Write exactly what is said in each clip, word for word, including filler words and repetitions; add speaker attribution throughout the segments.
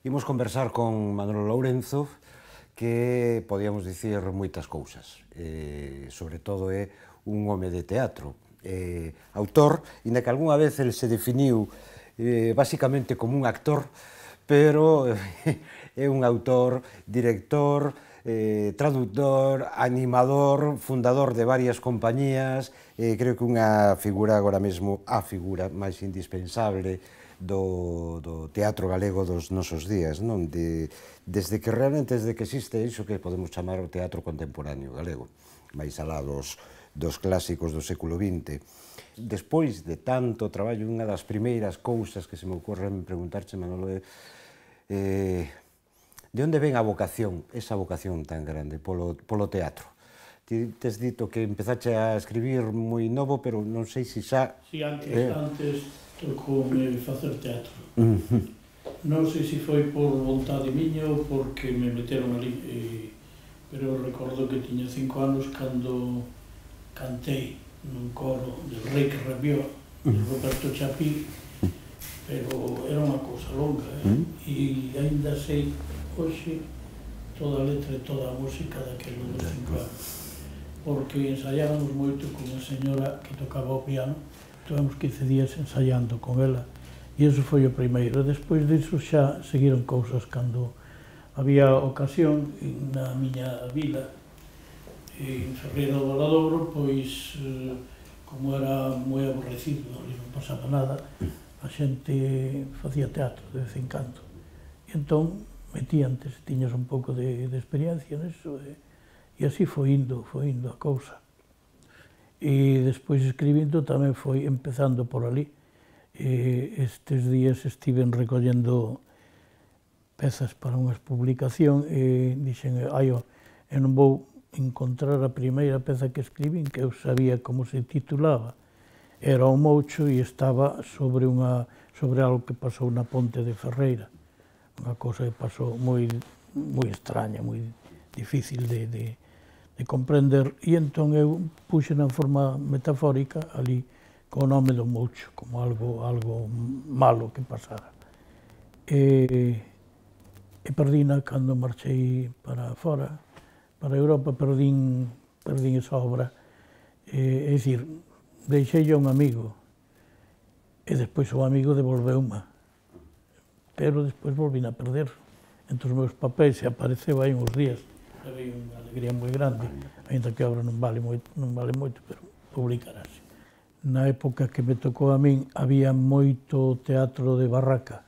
Speaker 1: Imos conversar con Manolo Lourenzo, que podíamos dicir moitas cousas. Eh, sobre todo é un home de teatro. Eh, autor, inda que algunha vez el se definiu eh, basicamente como un actor, pero eh, é un autor, director, eh, traductor, animador, fundador de varias compañías, eh, creo que unha figura agora mesmo, a figura máis indispensable do, do teatro galego dos nosos días, non? De, desde que realmente, desde que existe iso que podemos chamar o teatro contemporáneo galego, máis alá dos, dos clásicos do século vinte. Despois de tanto traballo, unha das primeiras cousas que se me ocorren preguntarche, Manolo, é eh, de onde ven a vocación, esa vocación tan grande polo, polo teatro? Ti tes dito que empezache a escribir moi novo, pero non sei se xa...
Speaker 2: Si, antes, eh... antes tocoume facer teatro.
Speaker 1: Uh -huh.
Speaker 2: Non sei se foi por vontade miña ou porque me meteron ali, eh, pero recordo que tiña cinco anos cando cantei nun coro de Rei que rabió, de Roberto Chapí, pero era unha cousa longa, eh? E ainda sei, hoxe, toda a letra e toda a música daquelo dos cinco anos, porque ensaiábamos moito con unha señora que tocaba o piano. Tivemos quince días ensaiando con ela e iso foi o primeiro. Despois disso xa seguiron cousas cando había ocasión na miña vila, en Ferreira do Valadouro, pois como era moi aborrecido, ali non pasaba nada, a xente facía teatro de vez en cando. E entón metíantes, tiñas un pouco de, de experiencia nisso e, e así foi indo, foi indo a cousa. E despois escribindo tamén foi empezando por ali. E estes días estiven recollendo pezas para unhas publicación e dixen, ai, eu non vou encontrar a primeira peza que escribín, que eu sabía como se titulaba. Era o Moucho e estaba sobre unha sobre algo que pasou na ponte de Ferreira. Unha cousa que pasou moi moi extraña, moi difícil de, de de comprender, e entón eu puxe na forma metafórica ali co nome do Moucho, como algo, algo malo que pasara. E, e perdina cando marchei para fora, para Europa, perdín, perdín esa obra. E, é dicir, deixei a un amigo, e despois o amigo devolveu-ma, pero despois volvín a perder. Entre os meus papéis se apareceu aí uns días. Levei unha alegría moi grande, ainda que a obra non vale moito, non vale moito, pero publicarase. Na época que me tocou a min, había moito teatro de barraca,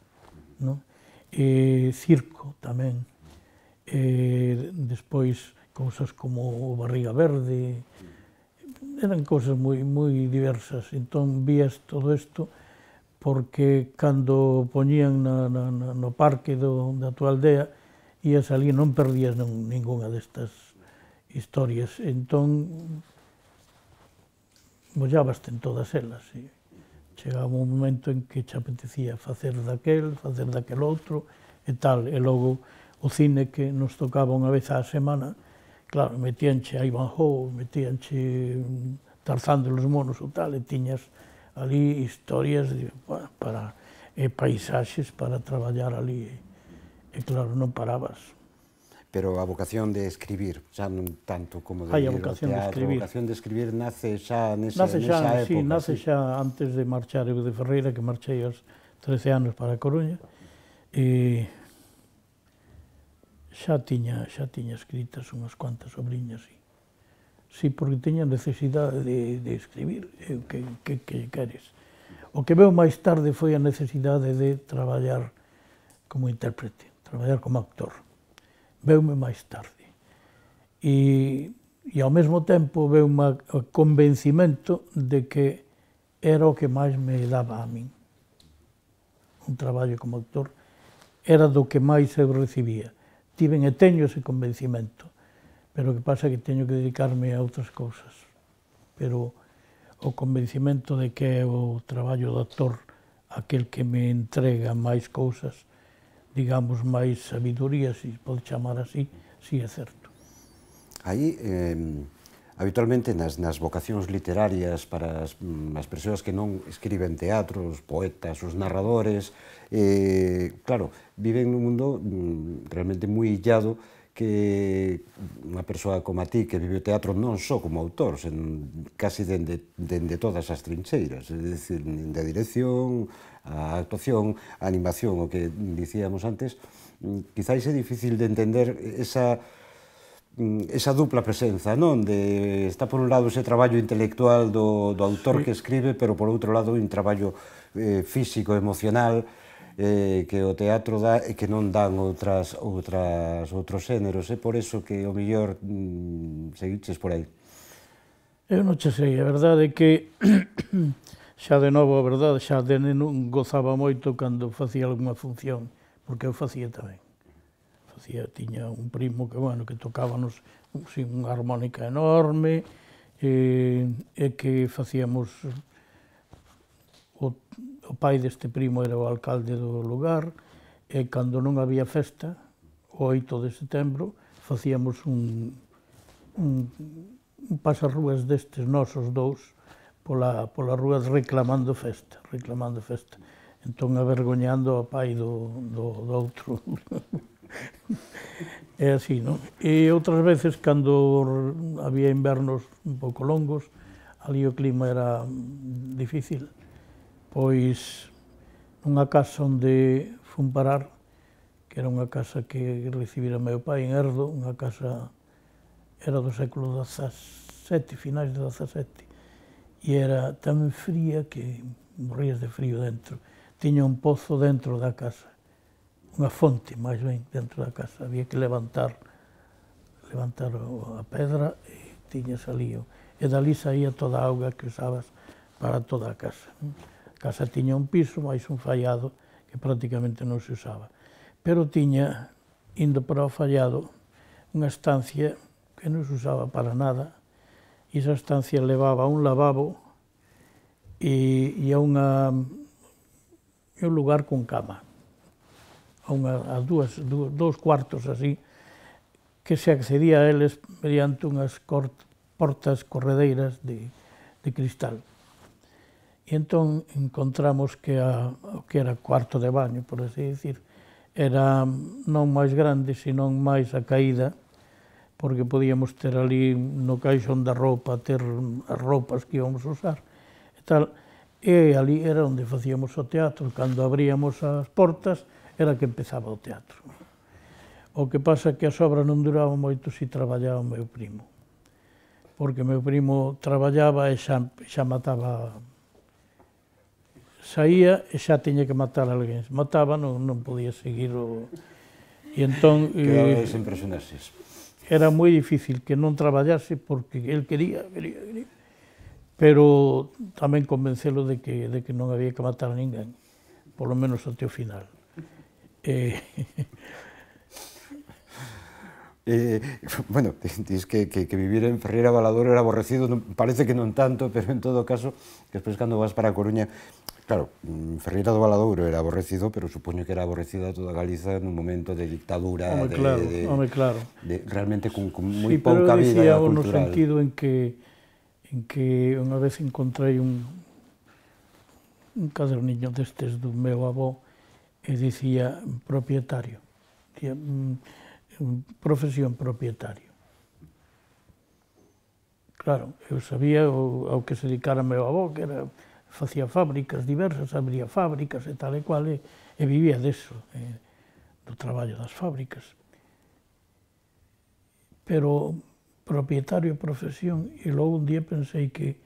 Speaker 2: non? E circo tamén. E despois, cousas como o Barriga Verde, eran cousas moi, moi diversas. Entón, vías todo isto, porque cando poñían na, na, no parque do, da tua aldea, ías ali, non perdías ninguna destas historias. Entón, mollabaste en todas elas. E chegaba un momento en que te apetecía facer daquel, facer daquel outro, e tal. E logo o cine que nos tocaba unha vez á semana, claro, metíanche a Ivanhoe, metíanche Tarzán de los monos ou tal, e tiñas ali historias de, para, e paisaxes para traballar ali. E claro, non parabas.
Speaker 1: Pero a vocación de escribir, xa non tanto como de
Speaker 2: Hai a
Speaker 1: ir ao
Speaker 2: vocación de
Speaker 1: teatro,
Speaker 2: escribir.
Speaker 1: a vocación de escribir nace xa nese,
Speaker 2: nace xa,
Speaker 1: nesa época.
Speaker 2: Sí, nace
Speaker 1: sí.
Speaker 2: xa antes de marchar eu de Ferreira, que marchei aos trece anos para a Coruña, e xa tiña, xa tiña escritas unhas cuantas obriñas, sí. Sí, porque tiña necesidade de, de escribir, e que, que, que queres. O que veo máis tarde foi a necesidade de traballar como intérprete, traballar como actor. Veume máis tarde. E, e ao mesmo tempo veume o convencimento de que era o que máis me daba a min. Un traballo como actor era do que máis eu recibía. Tiven e teño ese convencimento, pero o que pasa é que teño que dedicarme a outras cousas. Pero o convencimento de que é o traballo do actor aquel que me entrega máis cousas, digamos, máis sabiduría, se pode chamar así, si é certo.
Speaker 1: Aí, eh, habitualmente nas, nas vocacións literarias para as, as persoas que non escriben teatro, os poetas, os narradores, eh, claro, viven nun mundo mm, realmente moi illado, que unha persoa como a ti que vive o teatro non só como autor, sen casi dende, dende todas as trincheiras, é dicir, de dirección, a actuación, a animación, o que dicíamos antes, quizáis é difícil de entender esa esa dupla presenza, non? De, está por un lado ese traballo intelectual do, do autor sí. que escribe, pero por outro lado un traballo eh, físico, emocional, eh, que o teatro dá e que non dan outras, outras, outros xéneros. É por eso que o mellor mm, seguiches por aí.
Speaker 2: Eu non che sei, a verdade é que xa de novo, a verdade, xa de neno gozaba moito cando facía algunha función, porque eu facía tamén. Facía, tiña un primo que, bueno, que tocábanos sin unha armónica enorme, e, e que facíamos, o, o pai deste primo era o alcalde do lugar, e cando non había festa, o oito de setembro, facíamos un, un, un pasarrúas destes nosos dous, pola, pola rúa reclamando festa, reclamando festa. Entón, avergoñando ao pai do, do, do outro. É así, non? E outras veces, cando había invernos un pouco longos, ali o clima era difícil, pois nunha casa onde fun parar, que era unha casa que recibira meu pai en Erdo, unha casa, era do século dezasete, finais do dezasete, e era tan fría que morrías de frío dentro. Tiña un pozo dentro da casa, unha fonte, máis ben, dentro da casa. Había que levantar levantar a pedra e tiñas ali. E dali saía toda a auga que usabas para toda a casa. A casa tiña un piso, máis un fallado, que prácticamente non se usaba. Pero tiña, indo para o fallado, unha estancia que non se usaba para nada, e esa estancia levaba a un lavabo e, e a unha, a un lugar con cama. A, unha, a dúas, dúas, dous cuartos así, que se accedía a eles mediante unhas cort, portas corredeiras de, de cristal. E entón encontramos que a, o que era cuarto de baño, por así decir, era non máis grande, senón máis a caída, porque podíamos ter ali no caixón da roupa, ter as roupas que íbamos a usar e tal. E ali era onde facíamos o teatro. Cando abríamos as portas, era que empezaba o teatro. O que pasa é que as obras non duraban moito se traballaba o meu primo. Porque o meu primo traballaba e xa, xa mataba... Saía e xa tiña que matar a alguén. Se mataba, non, non podía seguir o... E entón...
Speaker 1: Quedaba sen personaxes.
Speaker 2: Era moi difícil que non traballase porque el quería, quería, quería. Pero tamén convencelo de que, de que non había que matar a ninguén, polo menos até o final. Eh...
Speaker 1: Eh, bueno, dis que, que, que vivir en Ferreira Valadouro era aborrecido, non, parece que non tanto, pero en todo caso, que despois cando vas para a Coruña, claro, Ferreira do Valadouro era aborrecido, pero supoño que era aborrecida toda Galiza nun momento de dictadura,
Speaker 2: home,
Speaker 1: de,
Speaker 2: claro,
Speaker 1: de,
Speaker 2: home, claro.
Speaker 1: de realmente con, con moi
Speaker 2: sí,
Speaker 1: pouca vida cultural.
Speaker 2: Sí, pero no sentido en que, en que unha vez encontrei un, un caderniño destes do meu avó e dicía propietario, dicía, profesión propietario. Claro, eu sabía o, ao que se dedicara meu avó, que era, facía fábricas diversas, abría fábricas e tal e cual, e, e vivía deso, eh, do traballo das fábricas. Pero propietario e profesión, e logo un día pensei que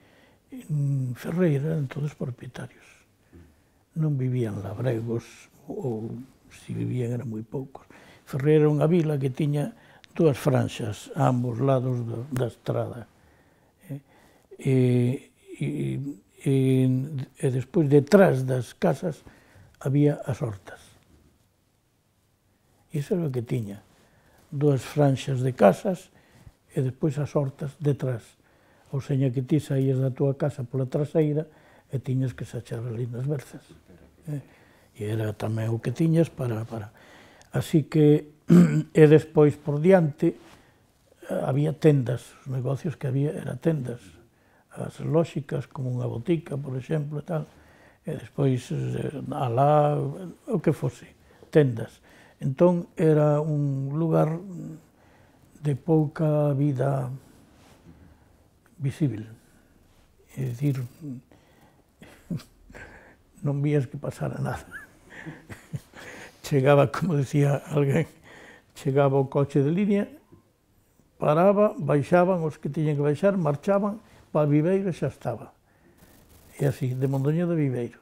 Speaker 2: en Ferreira eran todos propietarios. Non vivían labregos, ou se vivían eran moi poucos. Ferreira era unha vila que tiña dúas franxas a ambos lados do, da estrada. E, e, e, e despois, detrás das casas, había as hortas. E iso era o que tiña. Dúas franxas de casas e despois as hortas detrás. Ou seña que ti saías da túa casa pola traseira e tiñas que sachar ali nas berzas. E era tamén o que tiñas para... para... Así que, e despois por diante, había tendas, os negocios que había eran tendas, as lóxicas, como unha botica, por exemplo, e tal, e despois alá, o que fose, tendas. Entón, era un lugar de pouca vida visible. É dicir, non vías que pasara nada. Chegaba, como decía alguén, chegaba o coche de línea, paraba, baixaban os que tiñan que baixar, marchaban para Viveiro e xa estaba. E así, de Mondoñedo a Viveiro.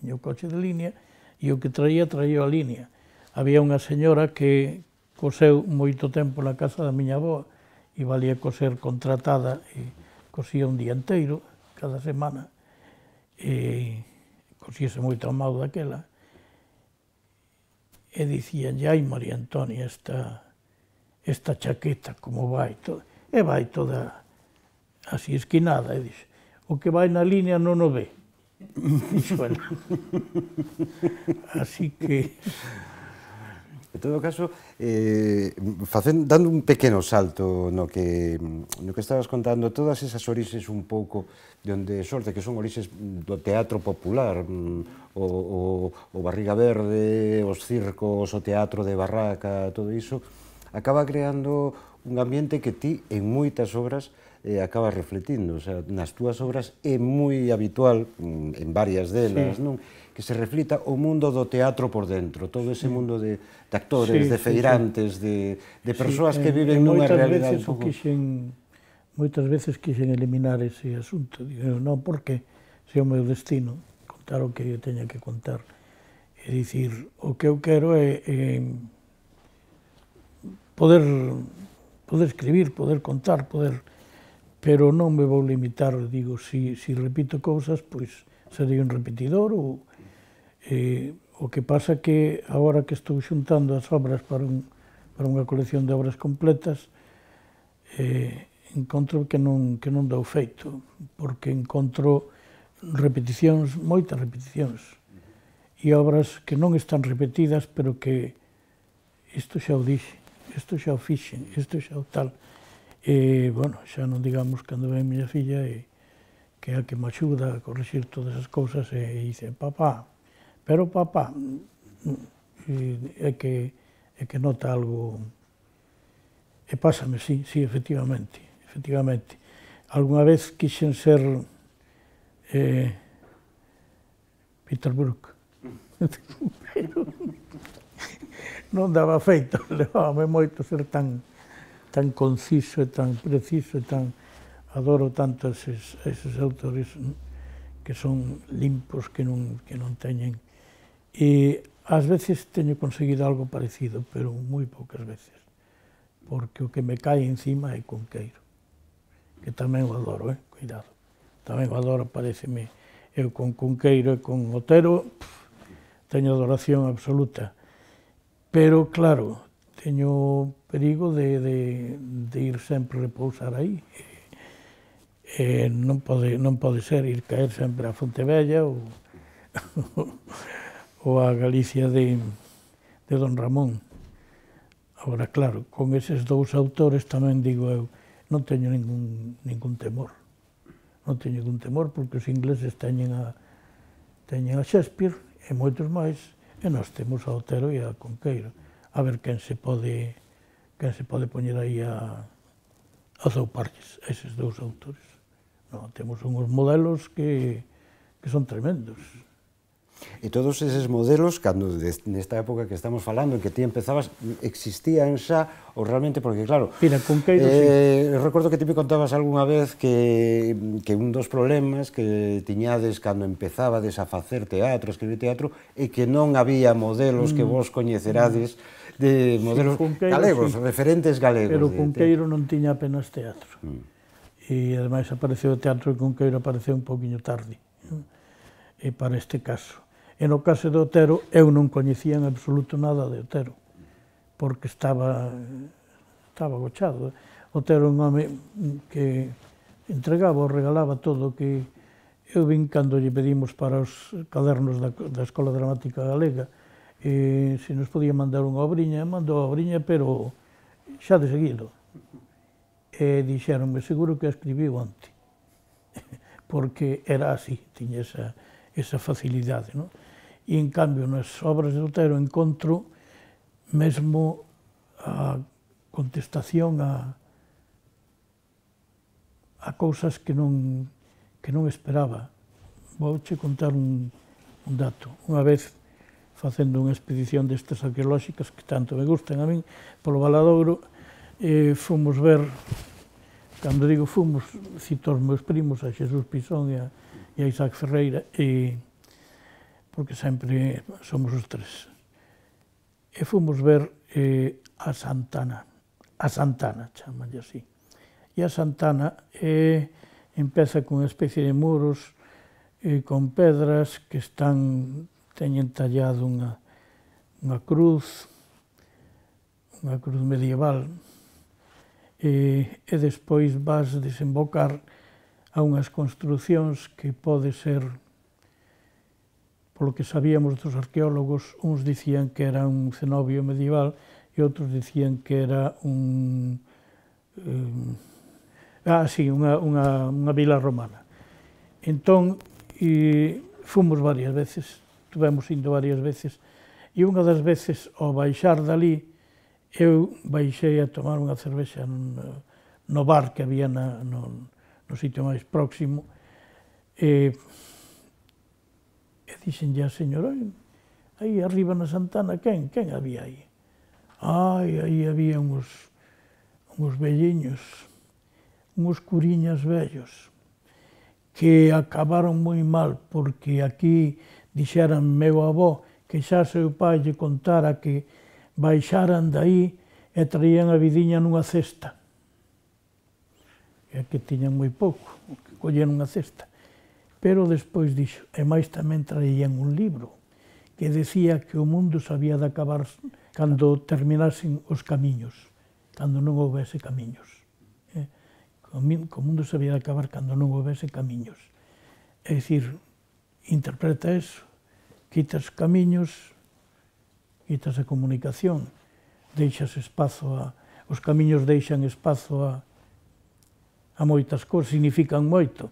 Speaker 2: Viña o coche de línea e o que traía, traía a línea. Había unha señora que coseu moito tempo na casa da miña avoa e valía coser contratada e cosía un día inteiro, cada semana, e cosíase moito a mau daquela. E dicíanlle, ai, María Antonia, esta, esta chaqueta, como vai, toda, e vai toda así esquinada, e dixe, o que vai na línea non o ve, dixo ela. Así que...
Speaker 1: En todo caso, eh, facendo, dando un pequeno salto no que, no que estabas contando, todas esas orixes un pouco de onde sorte, que son orixes do teatro popular, o, o, o Barriga Verde, os circos, o teatro de barraca, todo iso, acaba creando un ambiente que ti, en moitas obras, eh, acabas refletindo. O sea, nas túas obras é moi habitual, en varias delas, sí, non? Que se reflita o mundo do teatro por dentro, todo ese mundo de, de actores, sí, de feirantes, sí, sí. de, de persoas sí, que viven nunha realidade un pouco...
Speaker 2: Quixen, moitas veces quixen eliminar ese asunto, digo, non, porque se é o meu destino, contar o que eu teña que contar. É dicir, o que eu quero é, é poder, poder escribir, poder contar, poder... Pero non me vou limitar, digo, si, si repito cousas, pois serei un repetidor, ou... Eh, o que pasa que agora que estou xuntando as obras para, un, para unha colección de obras completas, eh, encontro que non, que non dou feito, porque encontro repeticións, moitas repeticións, e obras que non están repetidas, pero que isto xa o dixe, isto xa o fixen, isto xa o tal. E, bueno, xa non digamos cando ven miña filla, e, que é a que me axuda a corrixir todas as cousas, e dice, papá, pero papá, é que, é que nota algo, e pásame, sí, sí, efectivamente, efectivamente. Alguna vez quixen ser eh, Peter Brook, pero non daba feito, levábame moito ser tan, tan conciso e tan preciso e tan... Adoro tanto eses, eses autores que son limpos, que non, que non teñen... E ás veces teño conseguido algo parecido, pero moi poucas veces, porque o que me cae encima é Cunqueiro, que tamén o adoro, eh? Cuidado, tamén o adoro, pareceme, eu con Cunqueiro e con Otero, pff, teño adoración absoluta, pero claro, teño perigo de, de, de ir sempre repousar aí, e non pode, non pode ser ir caer sempre a Fontevella ou... ou a Galicia de, de Don Ramón. Agora, claro, con eses dous autores tamén digo eu, non teño ningún, ningún temor. Non teño ningún temor, porque os ingleses teñen a, teñen a Shakespeare e moitos máis, e nós temos a Otero e a Cunqueiro. A ver quen se pode, quen se pode poñer aí a, a zouparlles, eses dous autores. Non, temos uns modelos que, que son tremendos.
Speaker 1: E todos eses modelos, cando nesta época que estamos falando, en que ti empezabas, existían xa, ou realmente, porque claro...
Speaker 2: Mira, Cunqueiro,
Speaker 1: eh, sí. Recordo que ti me contabas algunha vez que, que un dos problemas que tiñades cando empezabades a facer teatro, a escribir teatro, é que non había modelos mm. que vos coñecerades, de modelos sí, Cunqueiro, galegos, sí. referentes galegos.
Speaker 2: Pero Cunqueiro non tiña apenas teatro. Mm. E, ademais, apareceu o teatro de Cunqueiro, apareceu un poquinho tarde, e para este caso. E no caso de Otero, eu non coñecía en absoluto nada de Otero, porque estaba, estaba agochado. Otero é un home que entregaba ou regalaba todo, que eu vin cando lle pedimos para os cadernos da, da Escola Dramática Galega, e se nos podía mandar unha obriña, mandou a obriña, pero xa de seguido. E dixeronme, seguro que a escribiu onte, porque era así, tiña esa, esa facilidade, non? E, en cambio, nas obras de Otero encontro mesmo a contestación a, a cousas que non, que non esperaba. Vouche contar un, un dato. Unha vez, facendo unha expedición destas arqueolóxicas que tanto me gustan a min, polo Valadouro, eh, fomos ver, cando digo fomos, cito os meus primos, a Xesús Pisón e a, e a Isaac Ferreira, e, porque sempre somos os tres. E fomos ver eh, a Santana, a Santana, chamanlle así. E a Santana eh, empeza con unha especie de muros eh, con pedras que están, teñen tallado unha, unha cruz, unha cruz medieval, e, e despois vas desembocar a unhas construcións que pode ser, polo que sabíamos dos arqueólogos, uns dicían que era un cenobio medieval e outros dicían que era un... Eh, ah, sí, unha, unha, unha vila romana. Entón, e, fomos varias veces, tuvemos indo varias veces, e unha das veces, ao baixar dali, eu baixei a tomar unha cervexa no, no bar que había na, no, no sitio máis próximo, e, e dixenlle a señora, aí arriba na Santana, quen? Quen había aí? Ai, aí había uns, uns velliños, uns curiñas vellos, que acabaron moi mal, porque aquí dixeran meu avó que xa seu pai lle contara que baixaran daí e traían a vidiña nunha cesta. E que tiñan moi pouco, que colleron unha cesta. Pero despois dixo, e máis tamén traían un libro que decía que o mundo se había de acabar cando terminasen os camiños, cando non houvese camiños. Eh? O mundo se había de acabar cando non houvese camiños. É dicir, interpreta eso, quitas camiños, quitas a comunicación, deixas espazo a... Os camiños deixan espazo a, a moitas cousas, significan moito.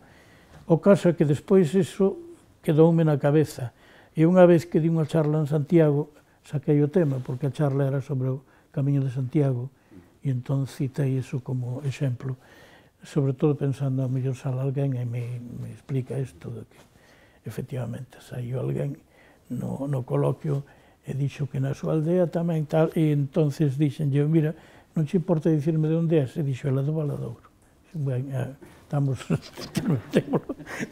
Speaker 2: O caso é que despois iso quedoume na cabeza. E unha vez que di unha charla en Santiago, saquei o tema, porque a charla era sobre o Camiño de Santiago, e entón citei iso como exemplo, sobre todo pensando a mellor sala alguén e me, me explica isto de que efectivamente saiu alguén no, no coloquio e dixo que na súa aldea tamén tal, e entonces dixenlle, mira, non te importa dicirme de onde é? E dixo, ela do Valadouro. Ben, estamos,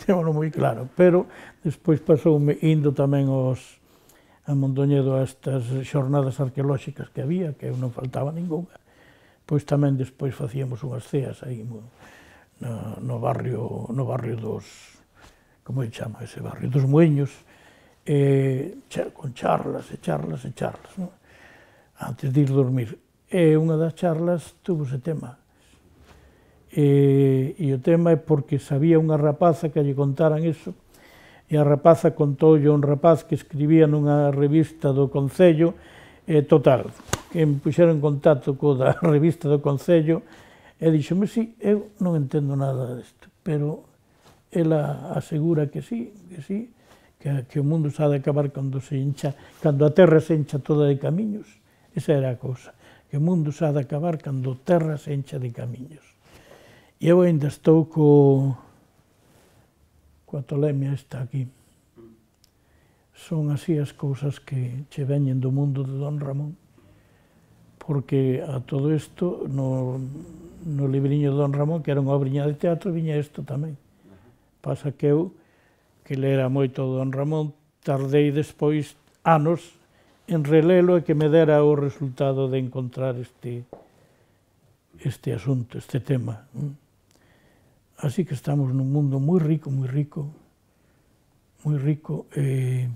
Speaker 2: témolo moi claro, pero despois pasoume indo tamén aos, a Mondoñedo a estas xornadas arqueolóxicas que había, que non faltaba ninguna, pois tamén despois facíamos unhas ceas aí no, no barrio, no barrio dos, como se chama ese barrio, dos Mueños, e, con charlas e charlas e charlas, non? Antes de ir dormir. E unha das charlas tuvo ese tema. E, e o tema é porque sabía unha rapaza que lle contaran iso, e a rapaza contoulle a un rapaz que escribía nunha revista do Concello, e total, que me puxeron en contacto co da revista do Concello, e dixome, sí, eu non entendo nada disto, pero ela asegura que sí, que sí, que, que o mundo se ha de acabar cando se hincha, cando a terra se hincha toda de camiños. Esa era a cousa, que o mundo se ha de acabar cando a terra se hincha de camiños. E eu ainda estou co, coa tolemia esta aquí. Son así as cousas que che veñen do mundo de Don Ramón, porque a todo isto, no, no libriño de Don Ramón, que era unha obriña de teatro, viña isto tamén. Pasa que eu, que lera moito Don Ramón, tardei despois anos en relelo e que me dera o resultado de encontrar este, este asunto, este tema. Así que estamos nun mundo moi rico, moi rico, moi rico, e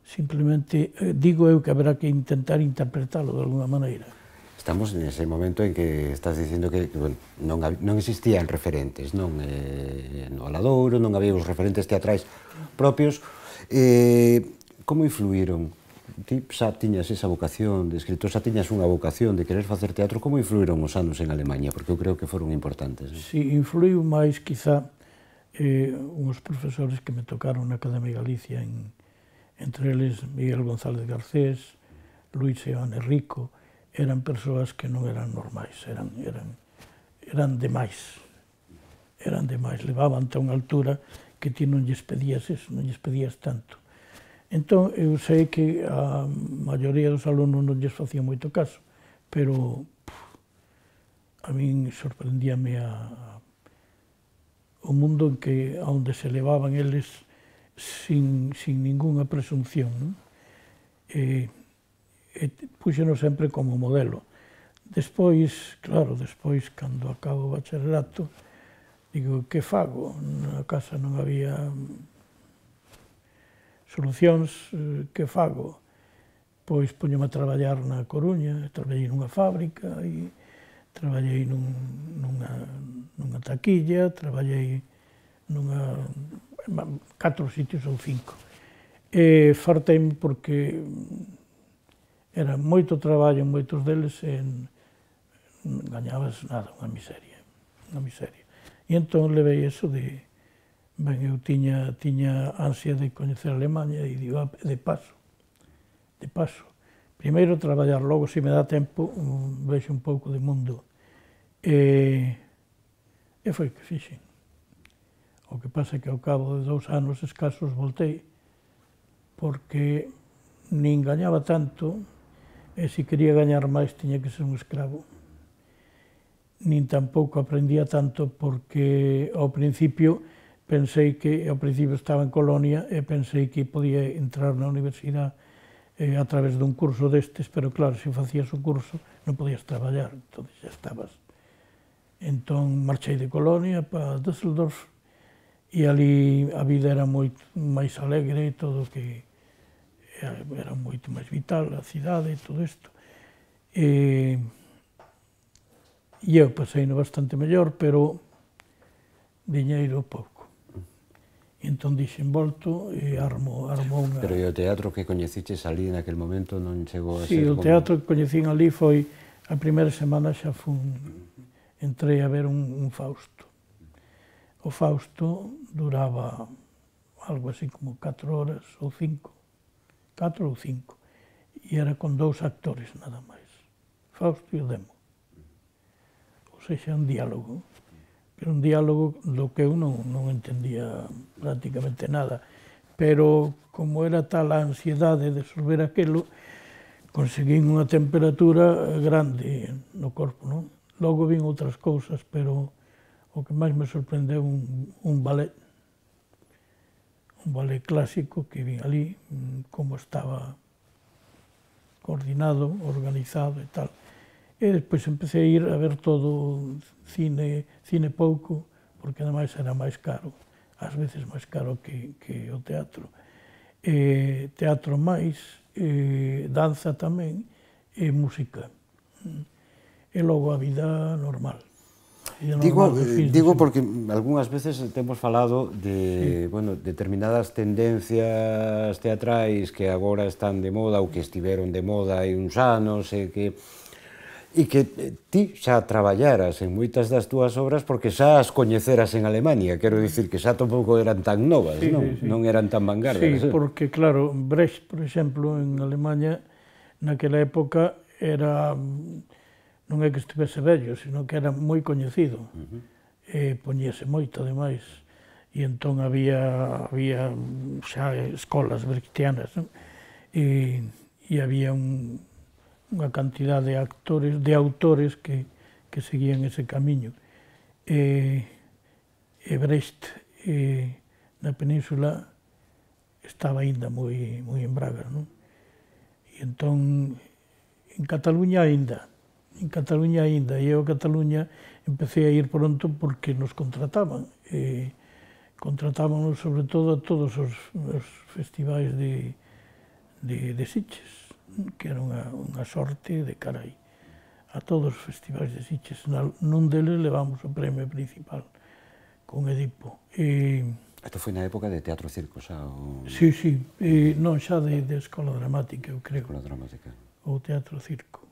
Speaker 2: simplemente digo eu que haberá que intentar interpretalo de alguna maneira.
Speaker 1: Estamos nese momento en que estás dicindo que, que bueno, non, non existían referentes, non? Eh, no Valadouro, non había os referentes teatrais propios. Eh, como influíron ti xa tiñas esa vocación de escritor, xa tiñas unha vocación de querer facer teatro. Como influíron os anos en Alemanha? Porque eu creo que foron importantes.
Speaker 2: Si, influiu máis, quizá, eh, uns profesores que me tocaron na Academia Galicia, en, entre eles Miguel González Garcés, Luis Seoane Rico, eran persoas que non eran normais, eran, eran, eran demais, eran demais, levaban a unha altura que ti non lles pedías eso, non lles pedías tanto. Entón, eu sei que a maioría dos alumnos non lles facía moito caso, pero puf, a min sorprendíame a, o mundo en que, onde se levaban eles sin, sin ninguna presunción, non? E, e puxenos sempre como modelo. Despois, claro, despois, cando acabo o bacharelato, digo, que fago? Na casa non había solucións, que fago? Pois poñome a traballar na Coruña, traballei nunha fábrica, e traballei nun, nunha, nunha taquilla, traballei nunha, catro sitios ou cinco. E farteime porque era moito traballo en moitos deles e non gañabas nada, unha miseria, unha miseria. E entón levei eso de, ben, eu tiña, tiña ansia de coñecer Alemanha e digo, de paso, de paso. Primeiro traballar, logo, se me dá tempo, vexo un pouco de mundo. E, e foi que fixen. O que pasa é que ao cabo de dous anos escasos voltei, porque nin gañaba tanto, e se quería gañar máis tiña que ser un escravo. Nin tampouco aprendía tanto, porque ao principio pensei que, ao principio estaba en Colonia, e pensei que podía entrar na universidade eh, a través dun curso destes, pero claro, se facías o curso non podías traballar, entón xa estabas. Entón marchei de Colonia para Düsseldorf, e ali a vida era moito máis alegre, todo que era moito máis vital, a cidade e todo isto. E, e eu pasei no bastante mellor, pero diñeiro pouco. E entón dixen, volto e armo, armo unha...
Speaker 1: Pero e o teatro que coñeciches ali naquel momento non chegou a
Speaker 2: ser... Si, o
Speaker 1: como...
Speaker 2: teatro que coñecín ali foi, a primeira semana xa fun, entrei a ver un, un Fausto. O Fausto duraba algo así como catro horas ou cinco, catro ou cinco, e era con dous actores nada máis, Fausto e o Demo. Ou seja, un diálogo, pero un diálogo do que eu non, non entendía prácticamente nada, pero como era tal a ansiedade de solver aquilo, conseguín unha temperatura grande no corpo, non? Logo vin outras cousas, pero o que máis me sorprendeu un, un ballet, un ballet clásico que vin ali, como estaba coordinado, organizado e tal. E despois empecé a ir a ver todo cine, cine pouco, porque ademais era máis caro, ás veces máis caro que, que o teatro. E, teatro máis, e, danza tamén, e música. E logo a vida normal.
Speaker 1: Digo, digo porque algunhas veces temos falado de, sí, bueno, determinadas tendencias teatrais que agora están de moda ou que estiveron de moda hai uns anos e que e que ti xa traballaras en moitas das túas obras porque xa as coñeceras en Alemania, quero dicir que xa tampouco eran tan novas, sí, non? Sí, sí. Non eran tan vanguardas.
Speaker 2: Sí, porque claro, Brecht, por exemplo, en Alemania, naquela época era... non é que estivese vello, sino que era moi coñecido, uh-huh. E poñíase moito, ademais, e entón había, había xa escolas brechtianas, non? E, e había un, unha cantidad de actores, de autores que, que seguían ese camiño. E, e Brecht, e, na península, estaba aínda moi, moi en braga, non? E entón, en Cataluña aínda, en Cataluña aínda, e eu a Cataluña empecé a ir pronto porque nos contrataban. E contratábanos sobre todo a todos os, os festivais de, de, de Sitges, que era unha, unha sorte de carai. A todos os festivais de Sitges, nun deles levamos o premio principal con Edipo. E,
Speaker 1: Isto foi na época de teatro circo xa? O...
Speaker 2: Sí, sí, e non xa de, de escola dramática, eu creo.
Speaker 1: Escola dramática.
Speaker 2: Ou teatro circo.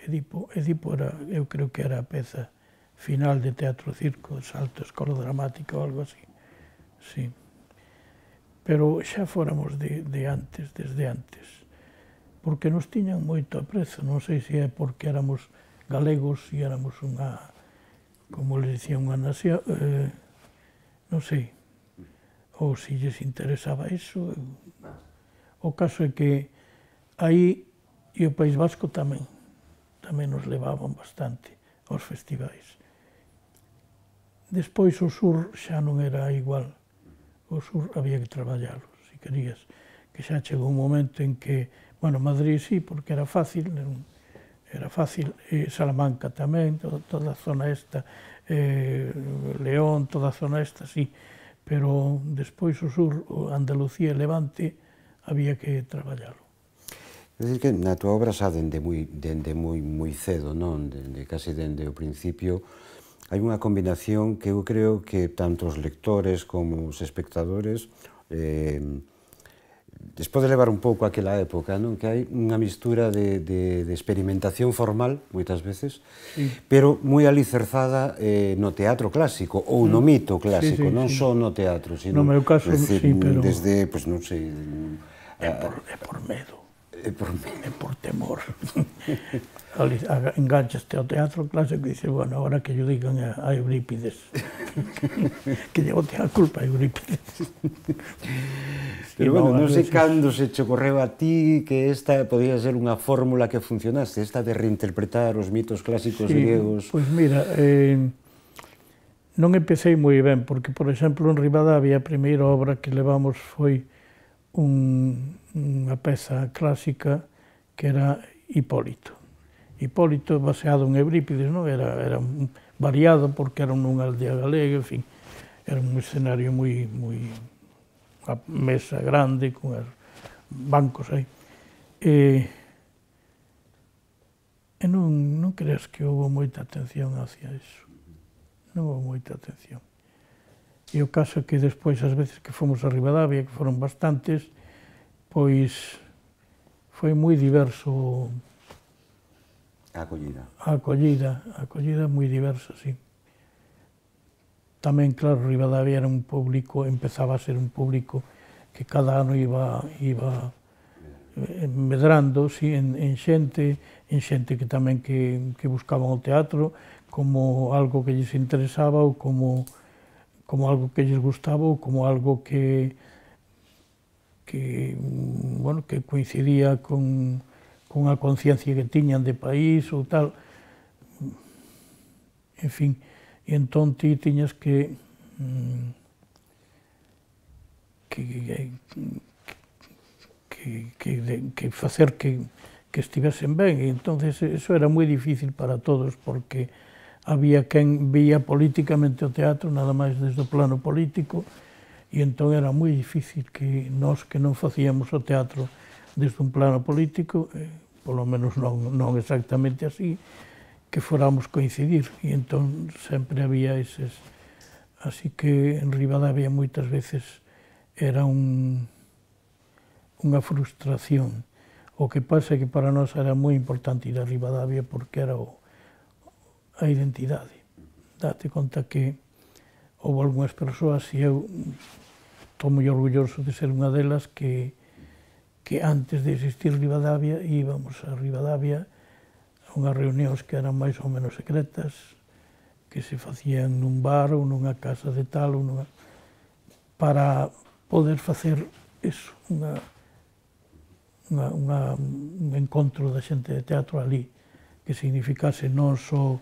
Speaker 2: Edipo, Edipo era, eu creo que era a peza final de teatro circo, salto escola dramática ou algo así. Sí. Pero xa fóramos de, de antes, desde antes, porque nos tiñan moito aprezo, non sei se é porque éramos galegos e éramos unha, como les dicía, unha nación, eh, non sei, ou se lles interesaba iso. O caso é que aí, e o País Vasco tamén, tamén nos levaban bastante aos festivais. Despois o sur xa non era igual, o sur había que traballalo, se querías, que xa chegou un momento en que, bueno, Madrid sí, porque era fácil, era fácil, e Salamanca tamén, toda, toda a zona esta, eh, León, toda a zona esta, sí, pero despois o sur, Andalucía e Levante, había que traballalo.
Speaker 1: É dicir que na tua obra xa dende moi, dende moi, moi cedo, non? Dende, casi dende o principio, hai unha combinación que eu creo que tanto os lectores como os espectadores eh, les pode levar un pouco aquela época, non? Que hai unha mistura de, de, de experimentación formal, moitas veces, sí, pero moi alicerzada eh, no teatro clásico, ou no mito clásico, sí, sí, non sí, só no teatro, sino,
Speaker 2: no meu caso,
Speaker 1: decir,
Speaker 2: sí, pero...
Speaker 1: desde, pois non sei...
Speaker 2: É por, é por medo.
Speaker 1: É por medo.
Speaker 2: É por temor. Enganchaste ao teatro clásico e dices, bueno, agora que yo digan a Eurípides. Que llevo a culpa a Eurípides.
Speaker 1: Pero bueno, non sei cando se che ocorreu a ti que esta podía ser unha fórmula que funcionaste, esta de reinterpretar os mitos clásicos griegos.
Speaker 2: Pois mira, non empecé moi ben, porque, por exemplo, en Ribadavia, a primeira obra que levamos foi unha peza clásica que era Hipólito. Hipólito baseado en Eurípides, non? Era, era variado porque era nunha aldea galega, en fin, era un escenario moi, moi, unha mesa grande con bancos aí. E, e non, non creas que houve moita atención hacia iso. Non houve moita atención. E o caso é que despois, as veces que fomos a Ribadavia, que foron bastantes, pois foi moi diverso
Speaker 1: a acollida.
Speaker 2: A acollida, a acollida moi diversa, sí. Tamén, claro, Ribadavia era un público, empezaba a ser un público que cada ano iba, iba medrando, sí, en, en xente, en xente que tamén que, que buscaban o teatro como algo que lles interesaba ou como como algo que lles gustaba ou como algo que, que, bueno, que coincidía con, con a conciencia que tiñan de país ou tal. En fin, e entón ti tiñas que, que, que, que, que facer que, que estivesen ben, e entón eso era moi difícil para todos, porque había quen vía políticamente o teatro, nada máis desde o plano político, e entón era moi difícil que nós que non facíamos o teatro desde un plano político, eh, polo menos non, non exactamente así, que foramos coincidir, e entón sempre había eses. Así que en Ribadavia moitas veces era un, unha frustración. O que pasa é que para nós era moi importante ir a Ribadavia porque era o a identidade. Date conta que houve algunhas persoas, e eu estou moi orgulloso de ser unha delas, que, que antes de existir Ribadavia íbamos a Ribadavia a unhas reunións que eran máis ou menos secretas, que se facían nun bar ou nunha casa de tal, ou nunha, para poder facer eso, unha, unha, unha, un encontro da xente de teatro ali, que significase non só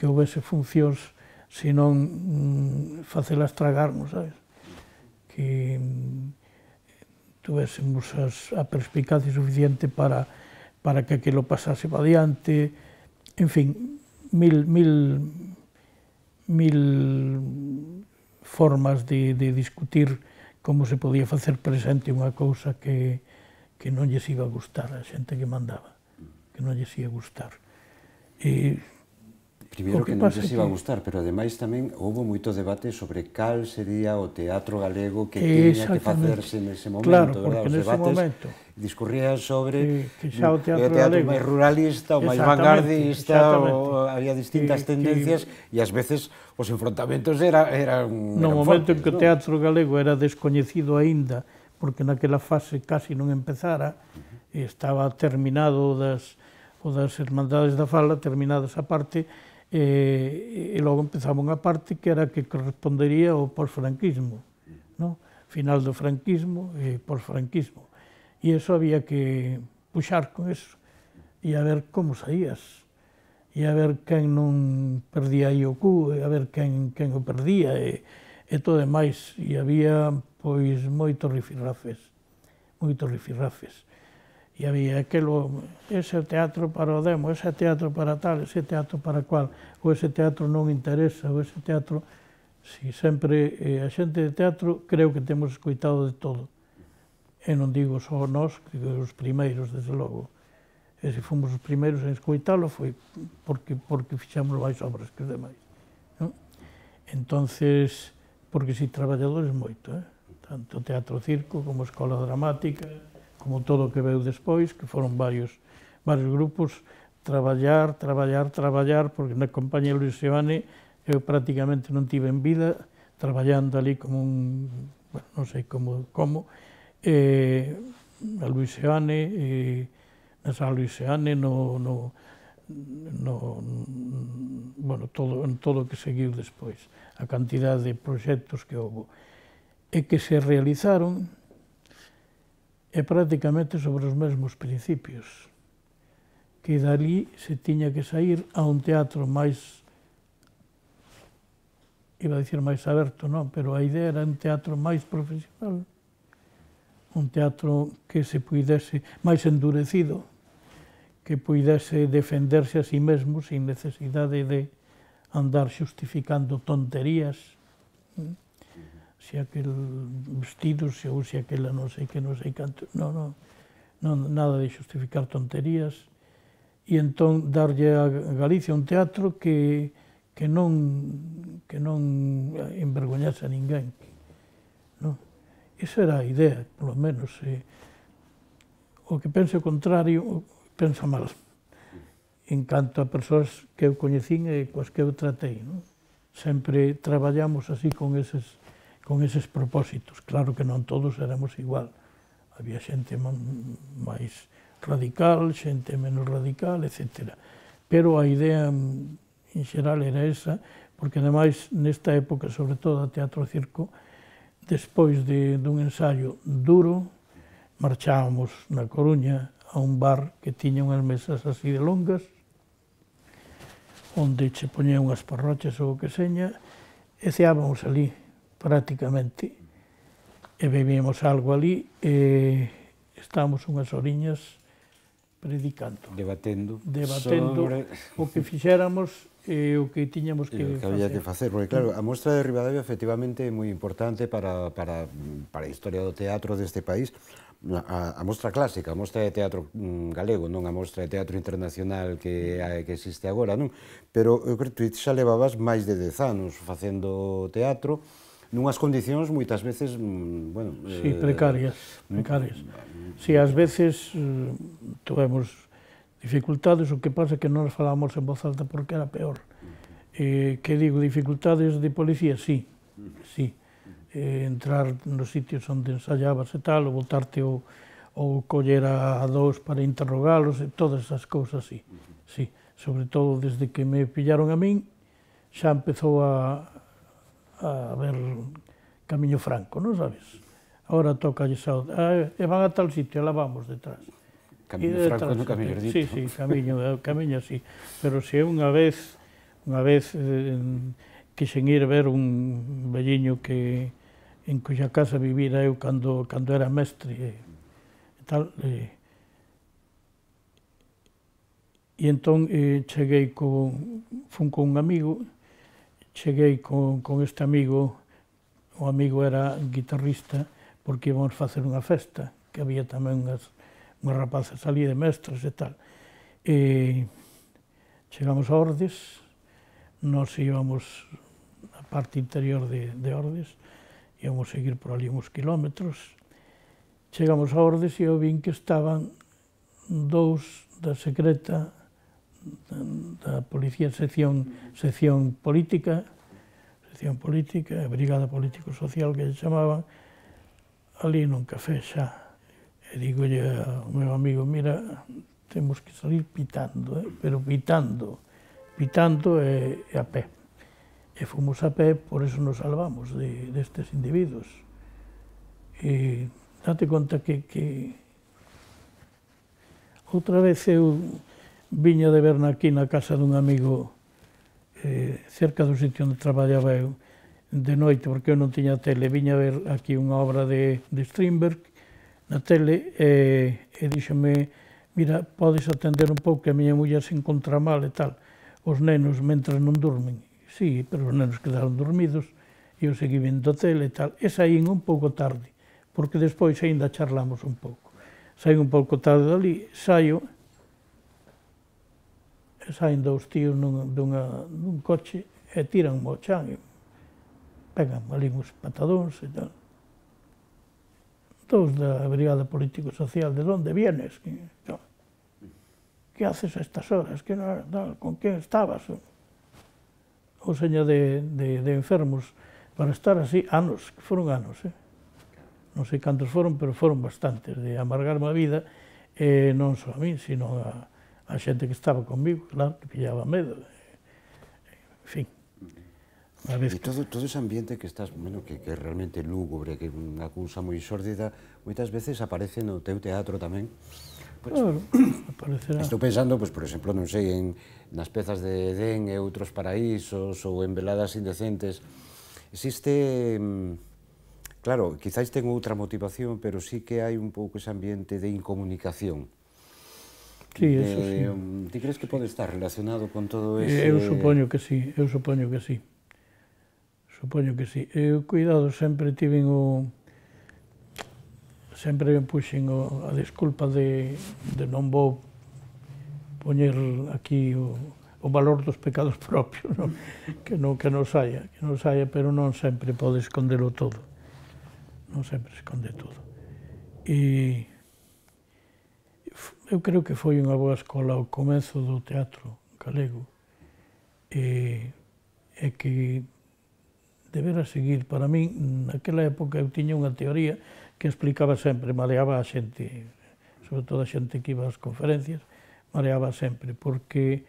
Speaker 2: que houvese funcións, senón mm, facelas tragarnos, sabes? Que mm, tuvésemos as, a perspicacia suficiente para, para que aquilo pasase para adiante, en fin, mil, mil, mil formas de, de discutir como se podía facer presente unha cousa que, que non lles iba a gustar a xente que mandaba, que non lles ia gustar. E,
Speaker 1: Primeiro que non lles iba a gustar, pero ademais tamén houve moito debate sobre cal sería o teatro galego que tiña que facerse nese momento,
Speaker 2: claro,
Speaker 1: porque
Speaker 2: nese momento
Speaker 1: discurrían sobre
Speaker 2: que xa o teatro
Speaker 1: teatro máis ruralista, o máis vanguardista, había distintas tendencias e ás veces os enfrontamentos eran fortes.
Speaker 2: No momento en que o teatro galego era descoñecido aínda, porque naquela fase casi non empezara, estaba terminado das o das Hermandades da Fala, terminada esa parte, e, e logo empezaba unha parte que era que correspondería ao posfranquismo, no? Final do franquismo e posfranquismo. E iso había que puxar con eso, e a ver como saías, e a ver quen non perdía aí o cu, e a ver quen, quen o perdía, e, e todo demais. E había, pois, moitos rifirrafes, moitos rifirrafes. E había aquelo, ese teatro para o demo, ese teatro para tal, ese teatro para cual, ou ese teatro non interesa, ou ese teatro... Si sempre eh, a xente de teatro creo que temos escoitado de todo. E non digo só nós, que os primeiros, desde logo. E se fomos os primeiros en escoitalo foi porque, porque fixamos máis obras que os demais. Non? Entonces, porque si traballadores moito, eh? Tanto teatro circo como escola dramática, como todo o que veu despois, que foron varios, varios grupos, traballar, traballar, traballar, porque na compañía Luis Seoane eu prácticamente non tive en vida, traballando ali como un, bueno, non sei como, como, eh, a Luis Seoane, eh, na San Luis Seoane, no, no, no, bueno, todo, en todo o que seguiu despois, a cantidad de proxectos que houve, e que se realizaron, é prácticamente sobre os mesmos principios, que dali se tiña que sair a un teatro máis, iba a dicir máis aberto, non, pero a idea era un teatro máis profesional, un teatro que se puidese, máis endurecido, que puidese defenderse a sí mesmo sin necesidade de andar xustificando tonterías, se aquel vestido, se ou se aquela non sei que, non sei canto, non, non, non, nada de xustificar tonterías, e entón darlle a Galicia un teatro que, que non, que non envergoñase a ninguén, non? Esa era a idea, polo menos. Eh, o que pense o contrario, pensa mal, en canto a persoas que eu coñecín e coas que eu tratei, non? Sempre traballamos así con eses con eses propósitos. Claro que non todos éramos igual. Había xente máis radical, xente menos radical, etcétera. Pero a idea en xeral era esa, porque ademais nesta época, sobre todo a teatro circo, despois de, dun ensaio duro, marchábamos na Coruña a un bar que tiña unhas mesas así de longas, onde che poñía unhas parrochas ou o que seña, e ceábamos ali, prácticamente, e bebíamos algo ali, e estábamos unhas horiñas predicando.
Speaker 1: Debatendo.
Speaker 2: Debatendo sobre o que fixéramos e o que tiñamos que,
Speaker 1: que
Speaker 2: facer.
Speaker 1: había que facer, porque claro, a Mostra de Ribadavia efectivamente é moi importante para, para, para a historia do teatro deste país, a, a mostra clásica, a mostra de teatro galego, non a mostra de teatro internacional que, que existe agora, non? Pero eu creo que xa levabas máis de dez anos facendo teatro, nunhas condicións moitas veces, bueno...
Speaker 2: Sí, precarias, precarias. Si, ás veces tuvemos dificultades, o que pasa é que non nos falábamos en voz alta porque era peor. Eh, que digo, dificultades de policía? Sí, sí. Eh, entrar nos sitios onde ensayabas e tal, ou voltarte ou, ou coller a, a dous para interrogalos, e todas esas cousas, sí. Sí, sobre todo desde que me pillaron a min, xa empezou a a ver Camiño Franco, non sabes? Ahora toca lle xa, e van a tal sitio, e lá vamos detrás.
Speaker 1: Camiño Franco no Camiño Erdito.
Speaker 2: Sí, sí, camiño, camiño así. Pero se unha vez, unha vez eh, quixen ir ver un velliño que en cuxa casa vivira eu cando, cando era mestre e, e tal, e, e entón eh, cheguei con, fun con un amigo, cheguei con, con este amigo, o amigo era guitarrista, porque íbamos facer unha festa, que había tamén unhas, unhas rapazas ali de mestres e tal. E chegamos a Ordes, Nós íbamos a parte interior de, de Ordes, íbamos seguir por ali uns kilómetros, chegamos a Ordes e eu vin que estaban dous da secreta da Policía sección, sección política, sección política, a Brigada Político-Social que lle chamaban, ali nun café xa. E digolle ao meu amigo, mira, temos que salir pitando, eh? pero pitando, pitando e, e a pé. E fomos a pé, por eso nos salvamos de, destes individuos. E date conta que, que outra vez eu viña de ver aquí na casa dun amigo eh, cerca do sitio onde traballaba eu de noite, porque eu non tiña tele, viña a ver aquí unha obra de, de Strindberg na tele e, e díxome, mira, podes atender un pouco que a miña muller se encontra mal e tal, os nenos mentras non durmen. Sí, pero os nenos quedaron dormidos e eu segui vendo tele e tal, e saín un pouco tarde, porque despois aínda charlamos un pouco. Saín un pouco tarde dali, saio, e saen dous tíos nun, dunha, nun coche e tiran mo chan, e pegan ali uns patadóns e tal. Dous da Brigada Político-Social, de onde vienes? Que, que haces a estas horas? Que, no, con quen estabas? Ou seña de, de, de enfermos para estar así, anos, que foron anos, eh? Non sei cantos foron, pero foron bastantes, de amargarme a vida, e non só a mí, sino a, a xente que estaba comigo, claro, que pillaba medo, en fin.
Speaker 1: E todo, todo ese ambiente que estás, bueno, que, que é realmente lúgubre, que é unha cousa moi xórdida, moitas veces aparece no teu teatro tamén. Pues,
Speaker 2: claro, aparecerá.
Speaker 1: Estou pensando, pues, por exemplo, non sei, en nas pezas de Edén e outros paraísos ou en Veladas indecentes. Existe, claro, quizáis ten outra motivación, pero sí que hai un pouco ese ambiente de incomunicación.
Speaker 2: Sí, eso sí.
Speaker 1: Ti crees que pode estar relacionado con todo ese...
Speaker 2: Eu supoño que sí, eu supoño que sí. Supoño que sí. Eu, cuidado, sempre tiven o... sempre me puxen o, a desculpa de, de non vou poñer aquí o, o valor dos pecados propios, no? que non que non saia, que non saia, pero non sempre pode escondelo todo. Non sempre esconde todo. E eu creo que foi unha boa escola o comezo do teatro galego, e, e que debera seguir. Para min, naquela época, eu tiña unha teoría que explicaba sempre, mareaba a xente, sobre todo a xente que iba ás conferencias, mareaba sempre, porque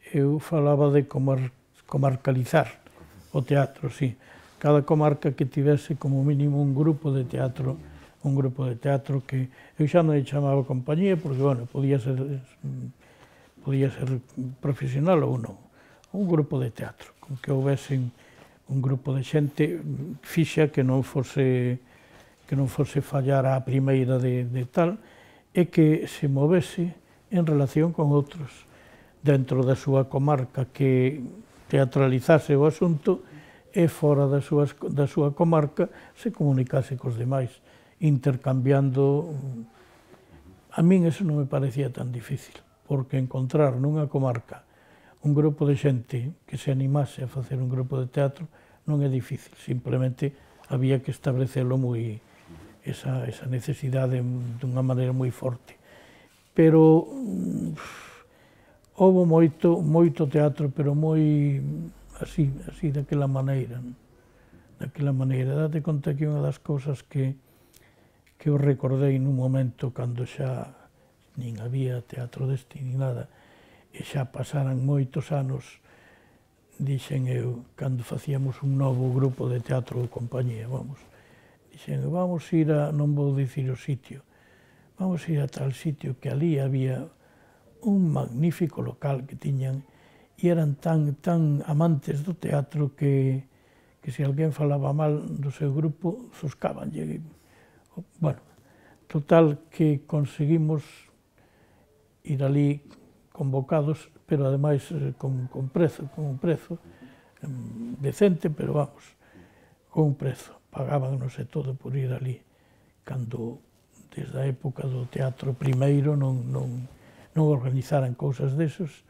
Speaker 2: eu falaba de comar, comarcalizar o teatro, sí. Cada comarca que tivese como mínimo un grupo de teatro, un grupo de teatro que eu xa non chamaba compañía, porque, bueno, podía ser, podía ser profesional ou non, un grupo de teatro, con que houvesen un grupo de xente fixa que non fose que non fose fallar a primeira de, de tal, e que se movese en relación con outros dentro da súa comarca, que teatralizase o asunto e fora da súa, da súa comarca se comunicase cos demais, intercambiando. A min eso non me parecía tan difícil, porque encontrar nunha comarca un grupo de xente que se animase a facer un grupo de teatro non é difícil, simplemente había que establecelo moi, esa, esa necesidade dunha maneira moi forte. Pero houve moito, moito teatro, pero moi así, así, daquela maneira, daquela maneira. Date conta que unha das cousas que, que eu recordei nun momento cando xa nin había teatro deste nin nada, e xa pasaran moitos anos, dixen eu, cando facíamos un novo grupo de teatro ou compañía, vamos, dixen, vamos ir a, non vou dicir o sitio, vamos ir a tal sitio que ali había un magnífico local que tiñan, e eran tan, tan amantes do teatro que, que se alguén falaba mal do seu grupo, zoscaban. Bueno, total que conseguimos ir ali convocados, pero ademais con, con prezo, con un prezo decente, pero vamos, con un prezo. Pagábanos e todo por ir ali, cando desde a época do teatro primeiro non, non, non organizaran cousas desos.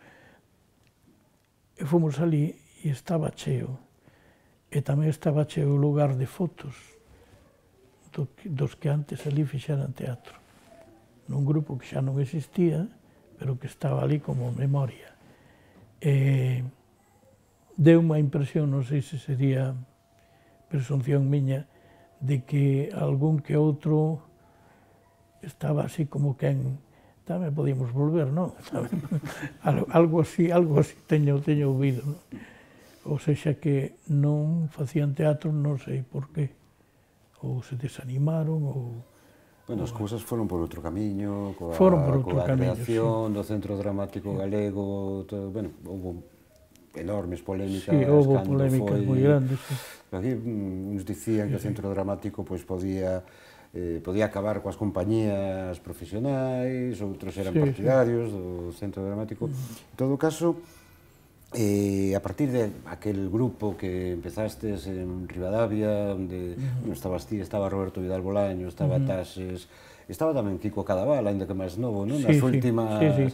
Speaker 2: E fomos ali e estaba cheo. E tamén estaba cheo o lugar de fotos do, dos que antes ali fixeran teatro. Nun grupo que xa non existía, pero que estaba ali como memoria. E deu unha impresión, non sei se sería presunción miña, de que algún que outro estaba así como quen tamén podíamos volver, non? Algo así, algo así teño, teño ouvido, non? Ou sexa que non facían teatro, non sei por qué. Ou se desanimaron, ou...
Speaker 1: Bueno, as cousas foron por outro camiño, coa,
Speaker 2: foron por outro
Speaker 1: coa
Speaker 2: camiño,
Speaker 1: creación
Speaker 2: sí.
Speaker 1: do Centro Dramático Galego, todo, bueno, houve enormes polémicas.
Speaker 2: Sí, houve polémicas moi grandes, sí.
Speaker 1: Aquí uns dicían que o Centro Dramático pois podía eh, podía acabar coas compañías profesionais, outros eran sí, partidarios sí. do Centro Dramático. En todo caso, eh, a partir de aquel grupo que empezastes en Ribadavia, onde uh -huh. estabas ti, estaba Roberto Vidal Bolaño, estaba uh -huh. Tases, estaba tamén Kiko Cadaval, ainda que máis novo, non? Nas, sí, últimas, sí, sí.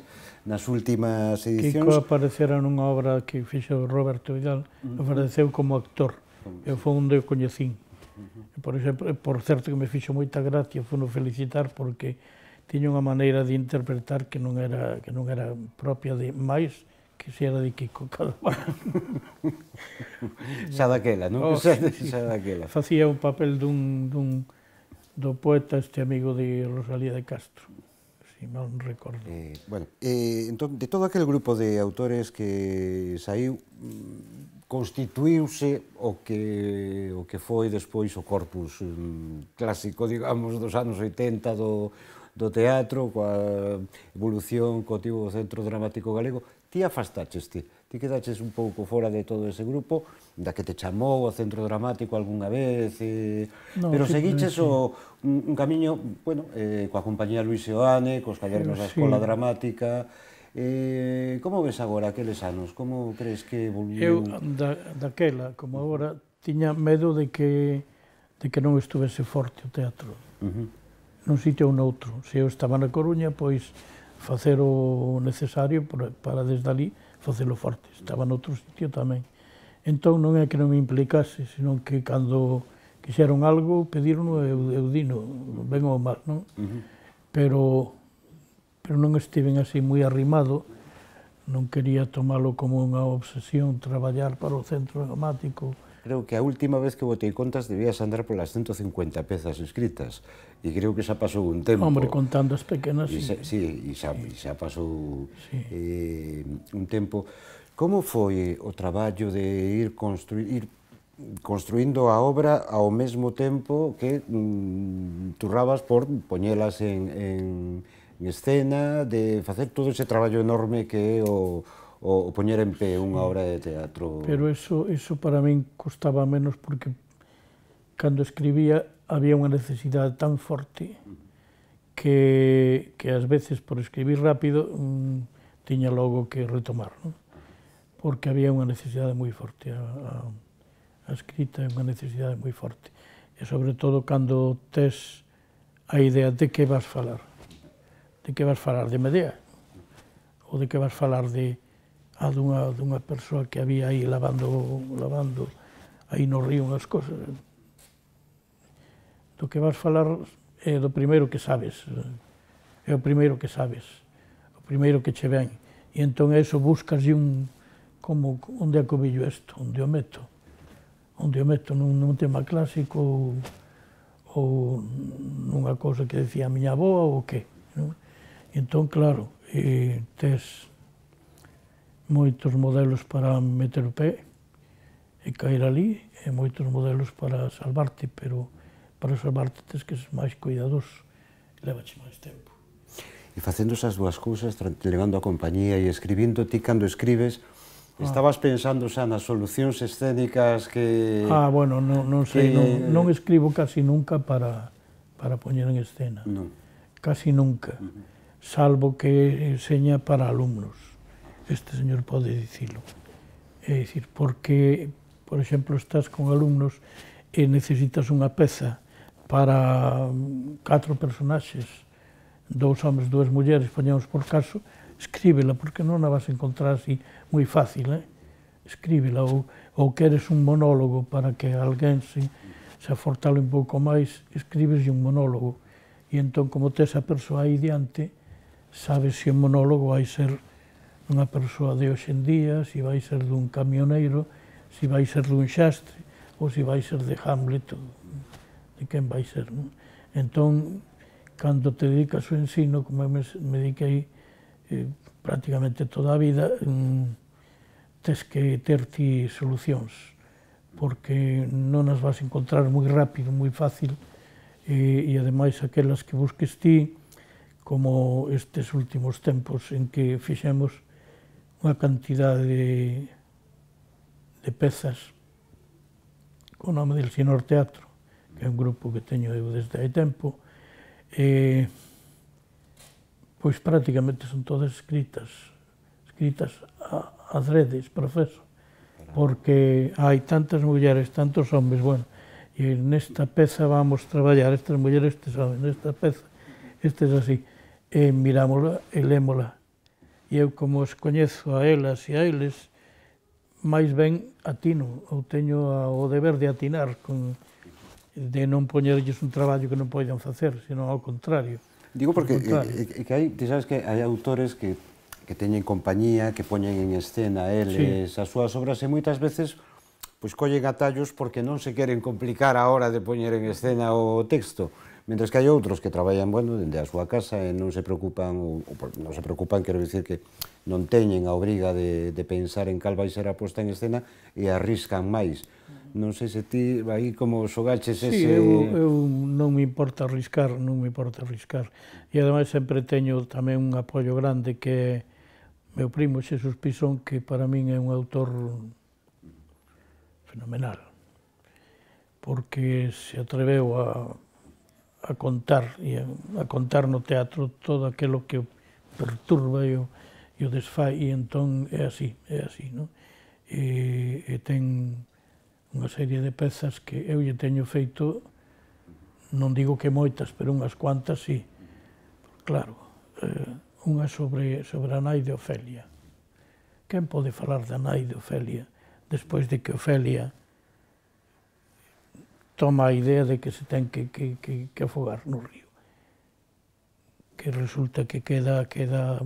Speaker 1: nas últimas edicións.
Speaker 2: Kiko aparecera nunha obra que fixo Roberto Vidal, uh -huh. apareceu como actor, eu foi onde o coñecín. Uh -huh. Por exemplo, por certo que me fixo moita gracia, foi no felicitar porque tiña unha maneira de interpretar que non era, que non era propia de máis, que se era de Kiko Cadaval.
Speaker 1: Xa daquela, non?
Speaker 2: Oh,
Speaker 1: xa,
Speaker 2: sí,
Speaker 1: xa daquela.
Speaker 2: Facía un papel dun, dun, do poeta este amigo de Rosalía de Castro, si non recordo.
Speaker 1: Eh, bueno, eh, entón, de todo aquel grupo de autores que saiu, constituíuse o que, o que foi despois o corpus um, clásico, digamos, dos anos oitenta do, do teatro, coa evolución co tivo do Centro Dramático Galego. Ti afastaches ti, ti quedaches un pouco fora de todo ese grupo, da que te chamou o Centro Dramático algunha vez, e... no, pero seguiches sí. o, un, un camiño, bueno, eh, coa compañía Luis Seoane, cos cadernos da Escola sí. Dramática. Eh, como ves agora aqueles anos? Como crees que evoluiu?
Speaker 2: Eu, da, daquela, como agora, tiña medo de que, de que non estuvese forte o teatro. Uh -huh. Nun sitio ou noutro. Se eu estaba na Coruña, pois facer o necesario para desde ali facelo forte. Estaba noutro sitio tamén. Entón non é que non me implicase, senón que cando quixeron algo, pediron eu, eu dino, ben ou mal, non? Uh -huh. Pero, pero non estiven así moi arrimado, non quería tomalo como unha obsesión, traballar para o Centro Dramático.
Speaker 1: Creo que a última vez que botei contas debías andar polas ciento cincuenta pezas escritas, e creo que xa pasou un tempo.
Speaker 2: Hombre, contando as pequenas, sí.
Speaker 1: Sí, e xa, xa pasou sí. eh, un tempo. Como foi o traballo de ir, construir, ir construindo a obra ao mesmo tempo que mm, turrabas por poñelas en, en, en escena, de facer todo ese traballo enorme que é o o poñer en pé unha obra de teatro?
Speaker 2: Pero eso, eso para min costaba menos porque cando escribía había unha necesidade tan forte que, que ás veces por escribir rápido mmm, tiña logo que retomar, non? Porque había unha necesidade moi forte, a, a, a escrita é unha necesidade moi forte. E sobre todo cando tes a idea de que vas falar. De que vas falar de Medea? Ou de que vas falar de a dunha, dunha persoa que había aí lavando, lavando aí no río unhas cosas. Do que vas falar é do primeiro que sabes, é o primeiro que sabes, o primeiro que che ven. E entón eso buscas un, como, onde é que o billo isto, onde o meto, onde o meto nun, nun tema clásico ou, ou nunha cousa que decía a miña avoa ou que. Non? E entón, claro, eh, tes moitos modelos para meter o pé e caer ali, e moitos modelos para salvarte, pero para salvarte tens que ser máis cuidadoso, levache máis tempo.
Speaker 1: E facendo esas dúas cousas, levando a compañía e escribindo, ti cando escribes, ah. estabas pensando xa nas solucións escénicas que...
Speaker 2: Ah, bueno, non, non sei, que... non, non escribo casi nunca para, para poñer en escena. Non. Casi nunca, uh -huh. salvo que enseña para alumnos. Este señor pode dicilo. É dicir, porque, por exemplo, estás con alumnos e necesitas unha peza para catro personaxes, dous homes, dúas mulleres, poñemos por caso, escríbela, porque non a vas a encontrar así moi fácil, eh? escríbela, ou, ou queres un monólogo para que alguén se, se afortale un pouco máis, escribes un monólogo. E entón, como tes a persoa aí diante, sabes se o monólogo vai ser unha persoa de hoxe en día, se vai ser dun camioneiro, se vai ser dun xastre, ou se vai ser de Hamlet, de quen vai ser, non? Entón, cando te dedicas ao ensino, como eu me, me dediquei eh, prácticamente toda a vida, mm, tes que ter ti solucións, porque non as vas encontrar moi rápido, moi fácil, e, e ademais aquelas que busques ti, como estes últimos tempos en que fixemos unha cantidade de, de pezas co nome del Sinor Teatro, que é un grupo que teño eu desde hai tempo, e, pois prácticamente son todas escritas, escritas a, adredes, profeso, porque hai tantas mulleres, tantos homes, bueno, e nesta peza vamos traballar, estas mulleres, estes homes, nesta peza, estes así, e mirámola e lémola. E eu, como os coñezo a elas e a eles, máis ben atino, ou teño o deber de atinar, con, de non poñerlles un traballo que non poidan facer, senón ao contrario.
Speaker 1: Digo porque que, que hai, ti sabes que hai autores que, que teñen compañía, que poñen en escena eles sí. as súas obras, e moitas veces pois collen atallos porque non se queren complicar a hora de poñer en escena o texto. Mentres que hai outros que traballan, bueno, dende a súa casa e non se preocupan, ou, ou non se preocupan, quero dicir que non teñen a obriga de, de pensar en cal vai ser a posta en escena e arriscan máis. Non sei se ti aí como xogaches ese...
Speaker 2: Sí, eu, eu non me importa arriscar, non me importa arriscar. E ademais sempre teño tamén un apoio grande que é meu primo Xesús Pisón, que para min é un autor fenomenal, porque se atreveu a a contar, e a, a contar no teatro todo aquilo que o perturba e o, e o desfai, e entón é así, é así, non? E, e ten unha serie de pezas que eu lle teño feito, non digo que moitas, pero unhas cuantas, sí. Claro, eh, unha sobre, sobre a nai de Ofelia. Quen pode falar da nai de Ofelia despois de que Ofelia toma a idea de que se ten que, que, que, que afogar no río? Que resulta que queda, queda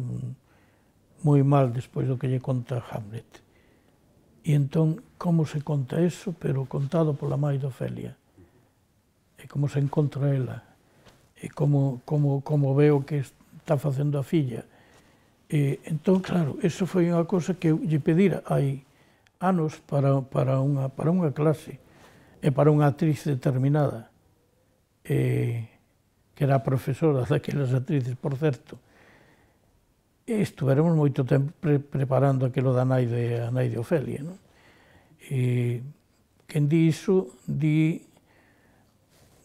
Speaker 2: moi mal despois do que lle conta Hamlet. E entón, como se conta eso, pero contado pola mãe de Ofelia? E como se encontra ela? E como, como, como ve o que está facendo a filla? E entón, claro, eso foi unha cosa que eu lle pedira hai anos para, para, unha, para unha clase, e para unha actriz determinada, eh, que era a profesora daquelas actrices, por certo. E estuveremos moito tempo pre preparando aquilo da nai de, a nai de Ofelia, non? E quen di iso, di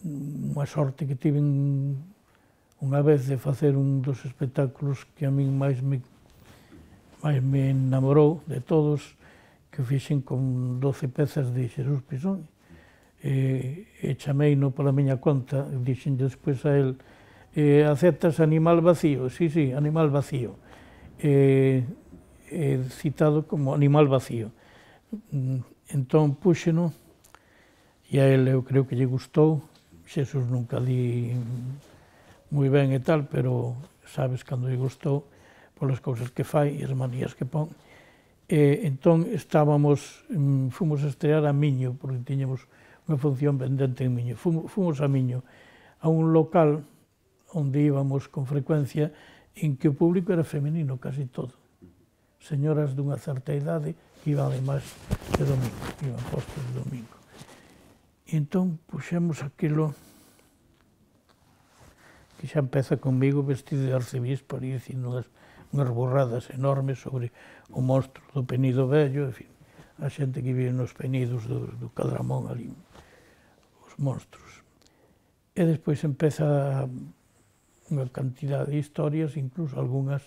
Speaker 2: unha sorte que tive unha vez de facer un dos espectáculos que a min máis me, máis me enamorou de todos, que fixen con doce pezas de Xesús Pisón. E, e chamei-no pola miña conta, dixen despois a él, e aceptas Animal Vacío? Sí, sí, Animal Vacío. E, e citado como Animal Vacío. Entón puxeno, e a él eu creo que lle gustou. Xesús nunca di moi ben e tal, pero sabes cando lle gustou polas cousas que fai e as manías que pon. E entón estábamos, fomos a estrear a Miño, porque tiñamos unha función pendente en Miño. Fomos a Miño, a un local onde íbamos con frecuencia, en que o público era femenino, casi todo. Señoras dunha certa idade que iban además de domingo, iban postos de domingo. E entón puxemos aquilo que xa empeza comigo vestido de arcebispo, ali dicindo unhas, unhas borradas enormes sobre o monstro do Penido Vello, en fin, a xente que vive nos penidos do, do Cadramón ali, os monstros. E despois empeza unha cantidad de historias, incluso algunhas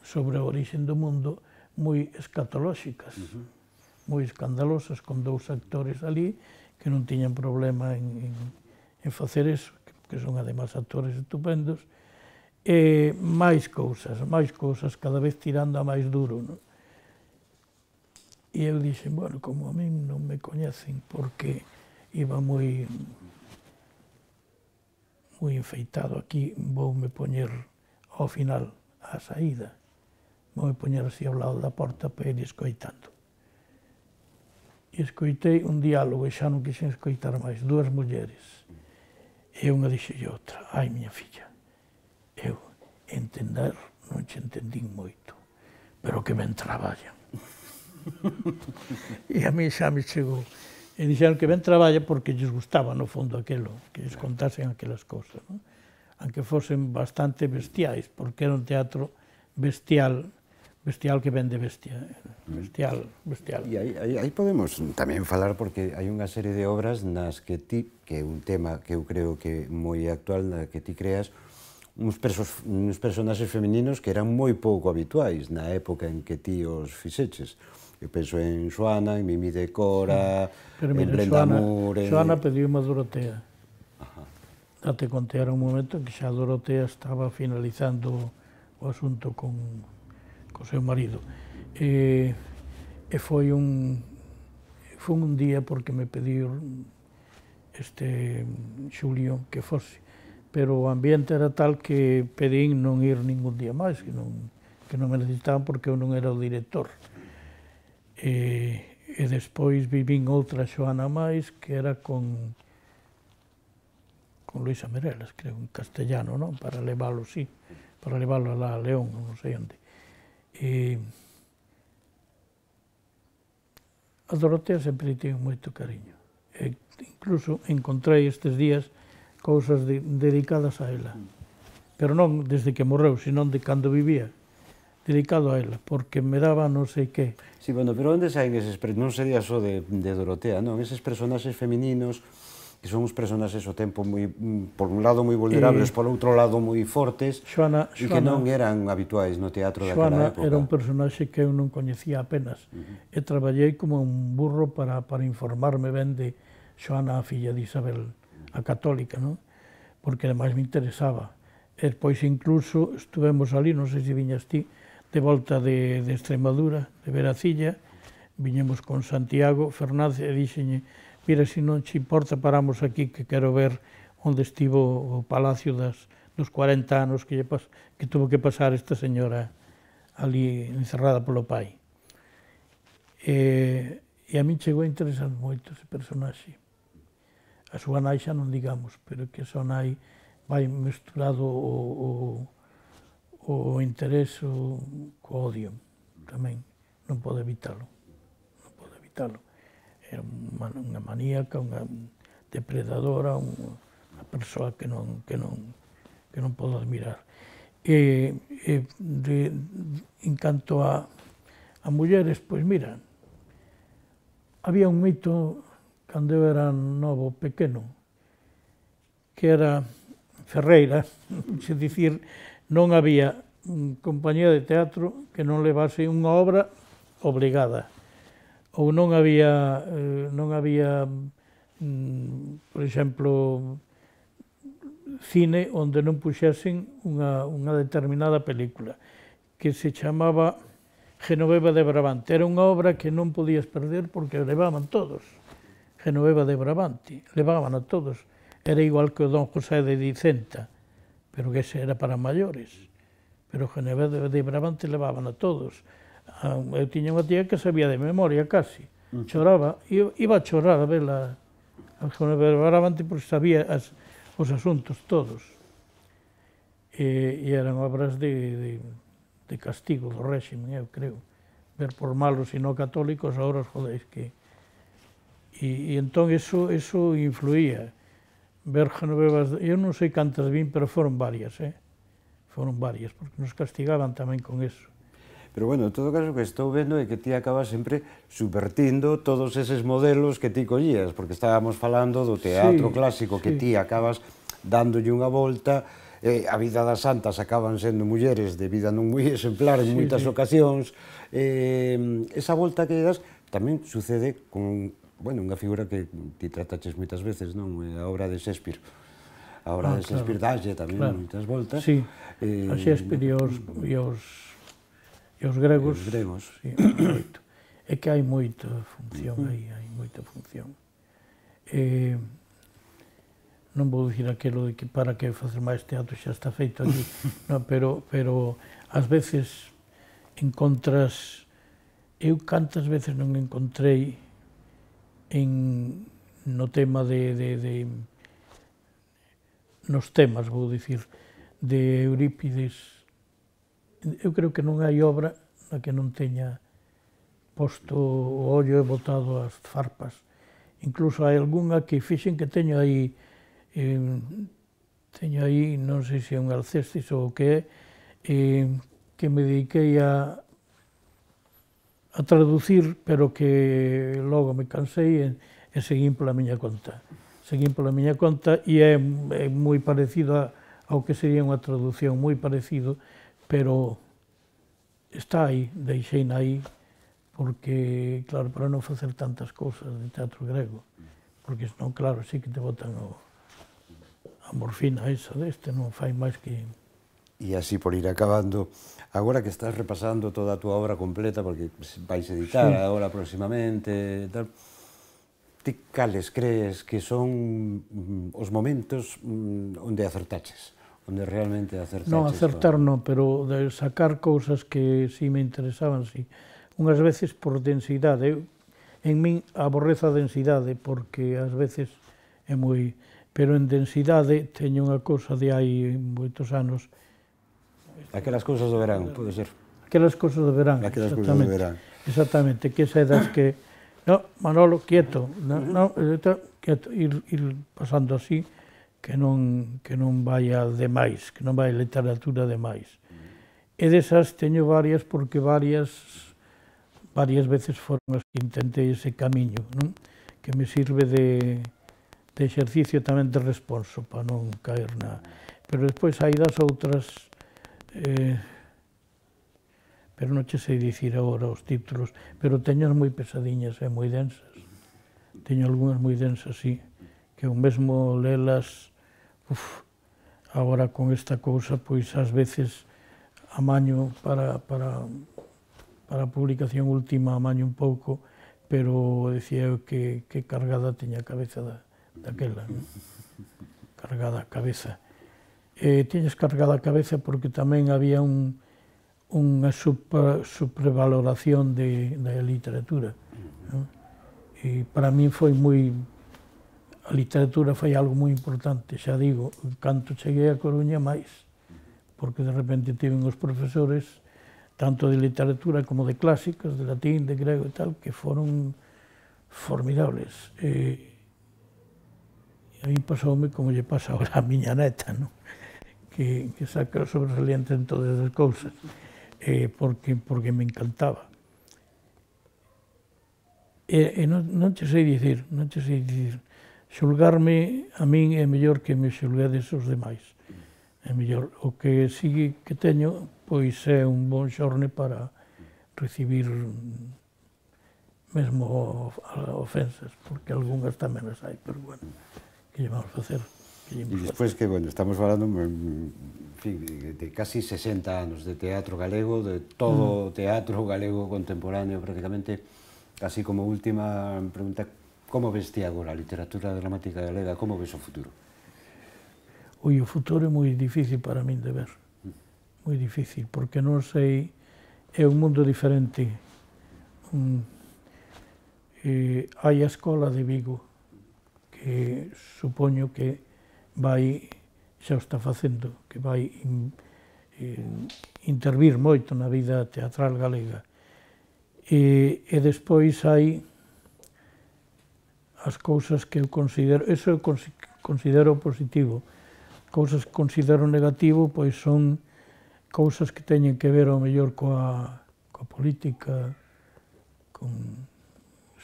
Speaker 2: sobre a orixen do mundo, moi escatolóxicas, uh-huh. moi escandalosas, con dous actores ali que non tiñan problema en, en, en facer eso, que son además actores estupendos, e máis cousas, máis cousas, cada vez tirando a máis duro, non? E eu dixen, bueno, como a min non me coñecen porque iba moi moi enfeitado aquí, voume poñer ao final a saída, voume poñer así ao lado da porta para ir escoitando. E escoitei un diálogo e xa non quixen escoitar máis, dúas mulleres. E unha dixelle outra, ai, miña filla, eu entender non che entendín moito, pero que ben traballan. E a mí xa me chegou. E dixeron que ben traballa porque lles gustaba, no fondo, aquilo, que lles contasen aquelas cousas, non? Aunque fosen bastante bestiais, porque era un teatro bestial, bestial que vende bestia, bestial, bestial.
Speaker 1: E aí, aí, aí podemos tamén falar, porque hai unha serie de obras nas que ti, que é un tema que eu creo que é moi actual, na que ti creas uns, persos, uns personaxes femininos que eran moi pouco habituais na época en que ti os fixeches. Eu penso en Xoana, en Mimi de Cora,
Speaker 2: pero mira,
Speaker 1: en Brenda
Speaker 2: Xoana,
Speaker 1: Moore...
Speaker 2: Xoana pediu unha Dorotea. Ajá. Date conta, era un momento en que xa Dorotea estaba finalizando o asunto con, con seu marido. E, e foi un foi un día porque me pediu este Xulio que fose, pero o ambiente era tal que pedín non ir ningún día máis, que non, que non me necesitaban porque eu non era o director. E, e despois vivín outra Xoana máis que era con con Luisa Merelas, creo, en castellano, non? Para leválo, sí, para leválo a León, non sei onde. E a Dorotea sempre tivo moito cariño. E incluso encontrei estes días cousas de, dedicadas a ela. Pero non desde que morreu, senón de cando vivía. Dedicado a ela, porque me daba non sei que.
Speaker 1: Sí, bueno, pero onde saen eses, non sería só de, de Dorotea, non? Eses personaxes femininos que son uns personaxes ao tempo moi, por un lado moi vulnerables, eh, por outro lado moi fortes,
Speaker 2: Xoana,
Speaker 1: e que non eran habituais no teatro
Speaker 2: daquela
Speaker 1: época.
Speaker 2: Xoana era un personaxe que eu non coñecía apenas, uh -huh. e traballei como un burro para, para informarme ben de Xoana, a filla de Isabel, a católica, non? Porque ademais me interesaba. E depois incluso estuvemos ali, non sei se viñas ti, de volta de, de Extremadura, de Veracilla, viñemos con Santiago Fernández e dixenlle, mira, se non che importa, paramos aquí que quero ver onde estivo o palacio das, dos cuarenta anos que, pas, que tuvo que pasar esta señora ali encerrada polo pai. E, e a min chegou a interesar moito ese personaxe. A súa nai xa non digamos, pero que a súa nai vai mesturado o, o o interés co odio tamén, non pode evitalo, non pode evitalo. Era unha maníaca, unha depredadora, unha persoa que non, que non, que non podo admirar. E, e de, en canto a, a mulleres, pois mira, había un mito cando eu era novo, pequeno, que era Ferreira, se dicir, non había compañía de teatro que non levase unha obra obligada, ou non había, eh, non había, mm, por exemplo, cine onde non puxesen unha, unha determinada película, que se chamaba Genoveva de Brabante. Era unha obra que non podías perder porque levaban todos. Genoveva de Brabante, levaban a todos. Era igual que o Don José de Dicenta, pero que ese era para maiores. Pero Genoveva de Brabante levaban a todos. Eu tiña unha tía que sabía de memoria casi. Choraba, iba a chorar a ver a Genoveva de Brabante porque sabía as, os asuntos todos. E, e eran obras de, de, de castigo do réximen, eu creo. Ver por malos e non católicos, ahora os jodéis que... E, e entón eso, eso influía. Ver Genovevas, eu non sei cantas vin, pero foron varias, eh? Foron varias, porque nos castigaban tamén con eso.
Speaker 1: Pero bueno, en todo caso, o que estou vendo é que ti acabas sempre subvertindo todos eses modelos que ti collías, porque estábamos falando do teatro sí, clásico, que sí. Ti acabas dándolle unha volta, eh, a vida das santas acaban sendo mulleres de vida non moi exemplar en sí, moitas sí. ocasións, eh, esa volta que das tamén sucede con... Bueno, unha figura que ti trataches moitas veces, non? A obra de Shakespeare. A obra ah, de Shakespeare claro, dalle tamén claro. moitas voltas.
Speaker 2: Sí, eh, a Shakespeare e os, e os, e os gregos.
Speaker 1: E os gregos.
Speaker 2: Sí, é que hai moita función aí, hai moita función. Eh, non vou dicir aquilo de que para que facer máis teatro xa está feito aquí, no, pero, pero ás veces encontras... Eu cantas veces non encontrei en, no tema de, de, de... nos temas, vou dicir, de Eurípides. Eu creo que non hai obra na que non teña posto o ollo e botado as farpas. Incluso hai algunha que fixen que teño aí, eh, teño aí, non sei se é un Alcestis ou o que é, eh, que me dediquei a, a traducir, pero que logo me cansei e, e seguín pola miña conta. Seguín pola miña conta e é, é moi parecido a, ao que sería unha traducción, moi parecido, pero está aí, deixeina aí, porque, claro, para non facer tantas cousas de teatro grego, porque senón, claro, sí que te botan o, a morfina esa deste, non fai máis que...
Speaker 1: E así por ir acabando, agora que estás repasando toda a túa obra completa, porque vais editar sí. agora próximamente, tal, ti cales crees que son os momentos onde acertaches? Onde realmente acertaches?
Speaker 2: Non, acertar non, pero de sacar cousas que si me interesaban, si. Unhas veces por densidade. Eu, en min aborrezo a densidade, porque ás veces é moi... Pero en densidade teño unha cousa de hai moitos anos.
Speaker 1: Aquelas cousas do verán, pode ser?
Speaker 2: Aquelas cousas do verán,
Speaker 1: Aquelas cousas do verán.
Speaker 2: Exactamente, que esa das que... No, Manolo, quieto, no, no, quieto, ir, ir pasando así, que non, que non vaya demais, que non vai literatura demais. E desas teño varias, porque varias, varias veces foron as que intentei ese camiño, non? Que me sirve de, de exercicio tamén de responso, para non caer na... Pero despois hai das outras, eh, pero non che sei dicir agora os títulos, pero teño moi pesadiñas e moi densas. Teño algunhas moi densas, sí, que o mesmo lelas, uf, agora con esta cousa, pois ás veces amaño para, para, para a publicación última, amaño un pouco, pero decía eu que, que cargada teña a cabeza da, daquela, non? Cargada a cabeza. E tiñes cargada a cabeza porque tamén había un, unha super, supervaloración de, da literatura, non? E para min foi moi... A literatura foi algo moi importante, xa digo, canto cheguei a Coruña máis, porque de repente tive uns profesores, tanto de literatura como de clásicas, de latín, de grego e tal, que foron formidables. E, e a mí pasoume como lle pasa ahora a miña neta, non? Que, que saca sobresaliente en todas as cousas, eh, porque, porque me encantaba. E, e non, non che sei dicir, non che sei dicir, xulgarme a min é mellor que me xulguedes os demais. É mellor. O que sí que teño, pois é un bon xorne para recibir mesmo ofensas, porque algunhas tamén as hai, pero bueno, que lle vamos facer?
Speaker 1: E despois que, bueno, estamos falando, en fin, de casi sesenta anos de teatro galego, de todo o teatro galego contemporáneo prácticamente, así como última pregunta, como ves ti agora a literatura dramática galega, como ves o futuro?
Speaker 2: Ui, o futuro é moi difícil para min de ver, moi difícil, porque non sei, é un mundo diferente. Um, eh, hai a escola de Vigo, que supoño que vai, xa o está facendo, que vai in, eh, intervir moito na vida teatral galega. E, e despois hai as cousas que eu considero, eso eu considero positivo. Cousas que considero negativo, pois son cousas que teñen que ver ao mellor coa, coa política, con,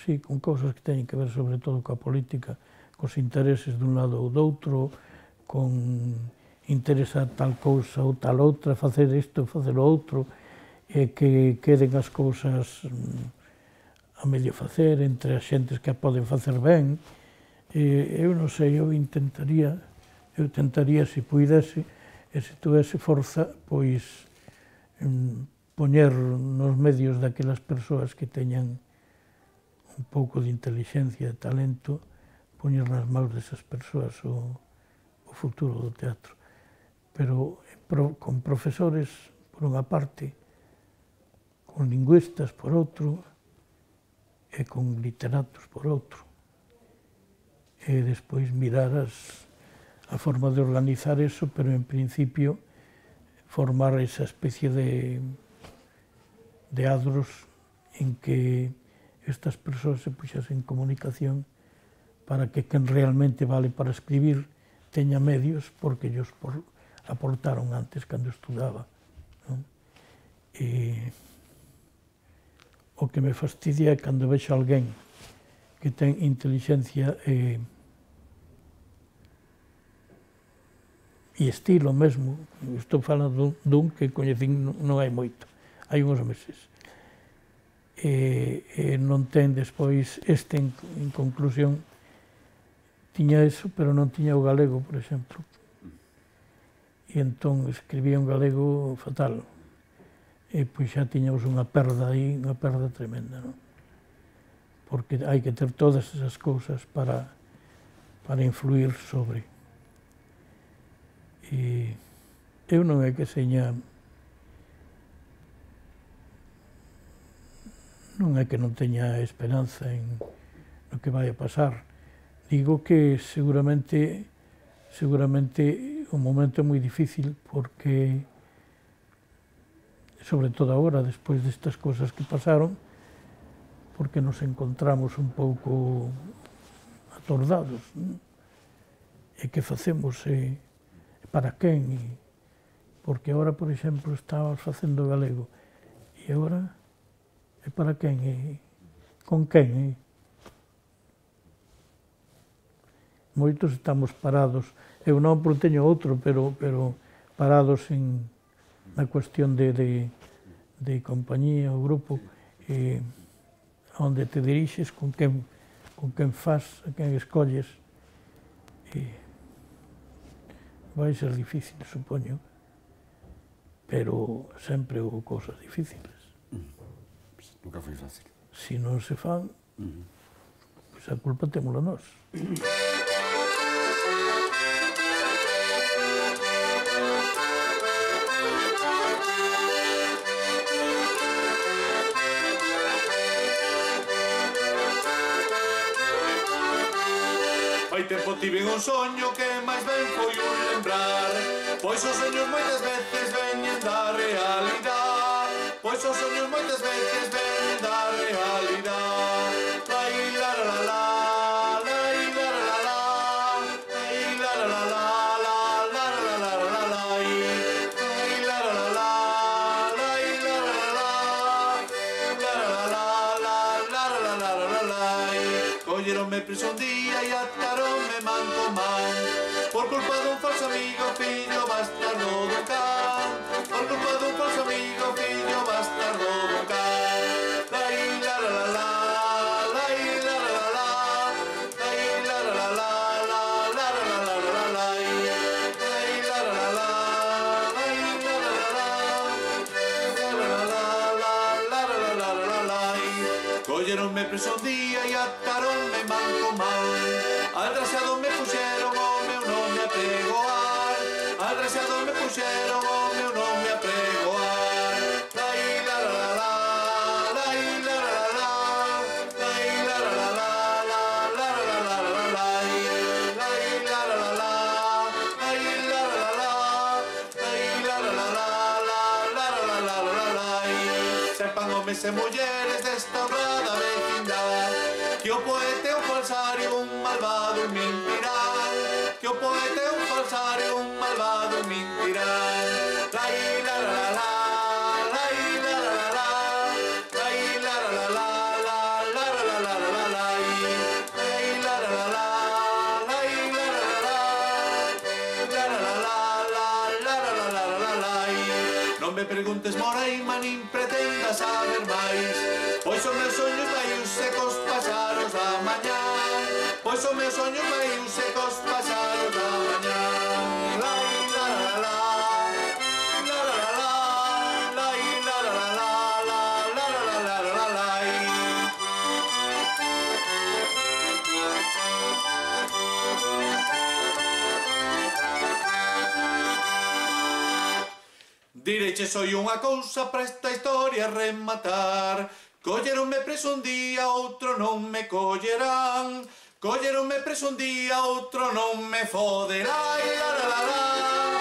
Speaker 2: sí, con cousas que teñen que ver sobre todo coa política, cos intereses dun lado ou doutro, con interesa tal cousa ou tal outra, facer isto ou facer o outro, e que queden as cousas a medio facer, entre as xentes que a poden facer ben. E, eu non sei, eu intentaría, eu tentaría, se puidese, e se tuvese forza, pois, poñer nos medios daquelas persoas que teñan un pouco de inteligencia e talento, poñer nas mãos desas persoas o, o futuro do teatro. Pero pro, con profesores, por unha parte, con lingüistas, por outro, e con literatos, por outro. E despois mirar as, a forma de organizar eso, pero en principio formar esa especie de, de adros en que estas persoas se puxasen en comunicación para que quen realmente vale para escribir teña medios porque ellos por, aportaron antes cando estudaba. Non? E o que me fastidia é cando vexo alguén que ten inteligencia e, e estilo mesmo. Estou falando dun que coñecín non hai moito, hai uns meses. E, e non ten despois este en, en conclusión tiña eso, pero non tiña o galego, por exemplo. E entón escribía un galego fatal. E pois xa tiñamos unha perda aí, unha perda tremenda, non? Porque hai que ter todas esas cousas para, para influir sobre. E eu non é que seña... Non é que non teña esperanza en no que vai a pasar. Digo que seguramente seguramente un momento moi difícil porque sobre todo agora, despois destas cousas que pasaron, porque nos encontramos un pouco atordados, non? E que facemos? E para quen? E porque agora, por exemplo, estábamos facendo galego e agora e para quen? E con quen? E moitos estamos parados, eu non porque teño outro, pero, pero parados en, na cuestión de, de, de compañía, o grupo, e onde te dirixes, con quen, con quen faz, a quen escolles, e vai ser difícil, supoño, pero sempre houve cousas difíciles.
Speaker 1: Nunca foi fácil.
Speaker 2: Se non se fan, pois a culpa témola nós.
Speaker 3: Hai tempo tiven un soño que máis ben foi un lembrar, pois os soños moitas veces veñen da realidade, pois os soños moitas veces veñen da realidade. Lai la la la, lai la la la, lai la la la, la la la la la lai, lai la la la, lai la la la, la la la la la la la lai. Colleronme preso un día e ataronme man con man, por culpa dun falso amigo, fillo bastardo do can, por culpa dun falso amigo, fillo bastardo do can. Lai la la la, lai la la la, lai la la la, la la la la la lai, lai la la la, lai la la la, la la la la la lai. Colleronme preso un día e ataronme man con man, al desgraciado me puxeron o meu nome a pregoar, al desgraciado me puxeron o meu nome a pregoar. Lai la la la, lai la la la, lai la la la, la la la la la lai, lai la la la, lai la la la, lai la la la, la la la la lai. Sepan homes e mulleres desta honrada vecindade que o poeta é un falsario, un malvado, un mentirán, que o poeta é un falsario, un malvado, un mentirán. Lai la la la, lai la la la, lai la la la, la la la la la lai, lai la la la, lai la la la, la la la la la la la lai. Non me preguntes, Moreima, nin pretendas saber máis, pois os meus soños vai uns secos pasaros da mañá, pois os meus soños vai uns secos pasaros da mañá. Lai la la la, la la la la, lai la la la, la la la la la lai. Direiche soy unha cousa para esta historia rematar. Colleronme preso un día, outro non me collerán. Colleronme preso un día, outro non me foderán. La la la la.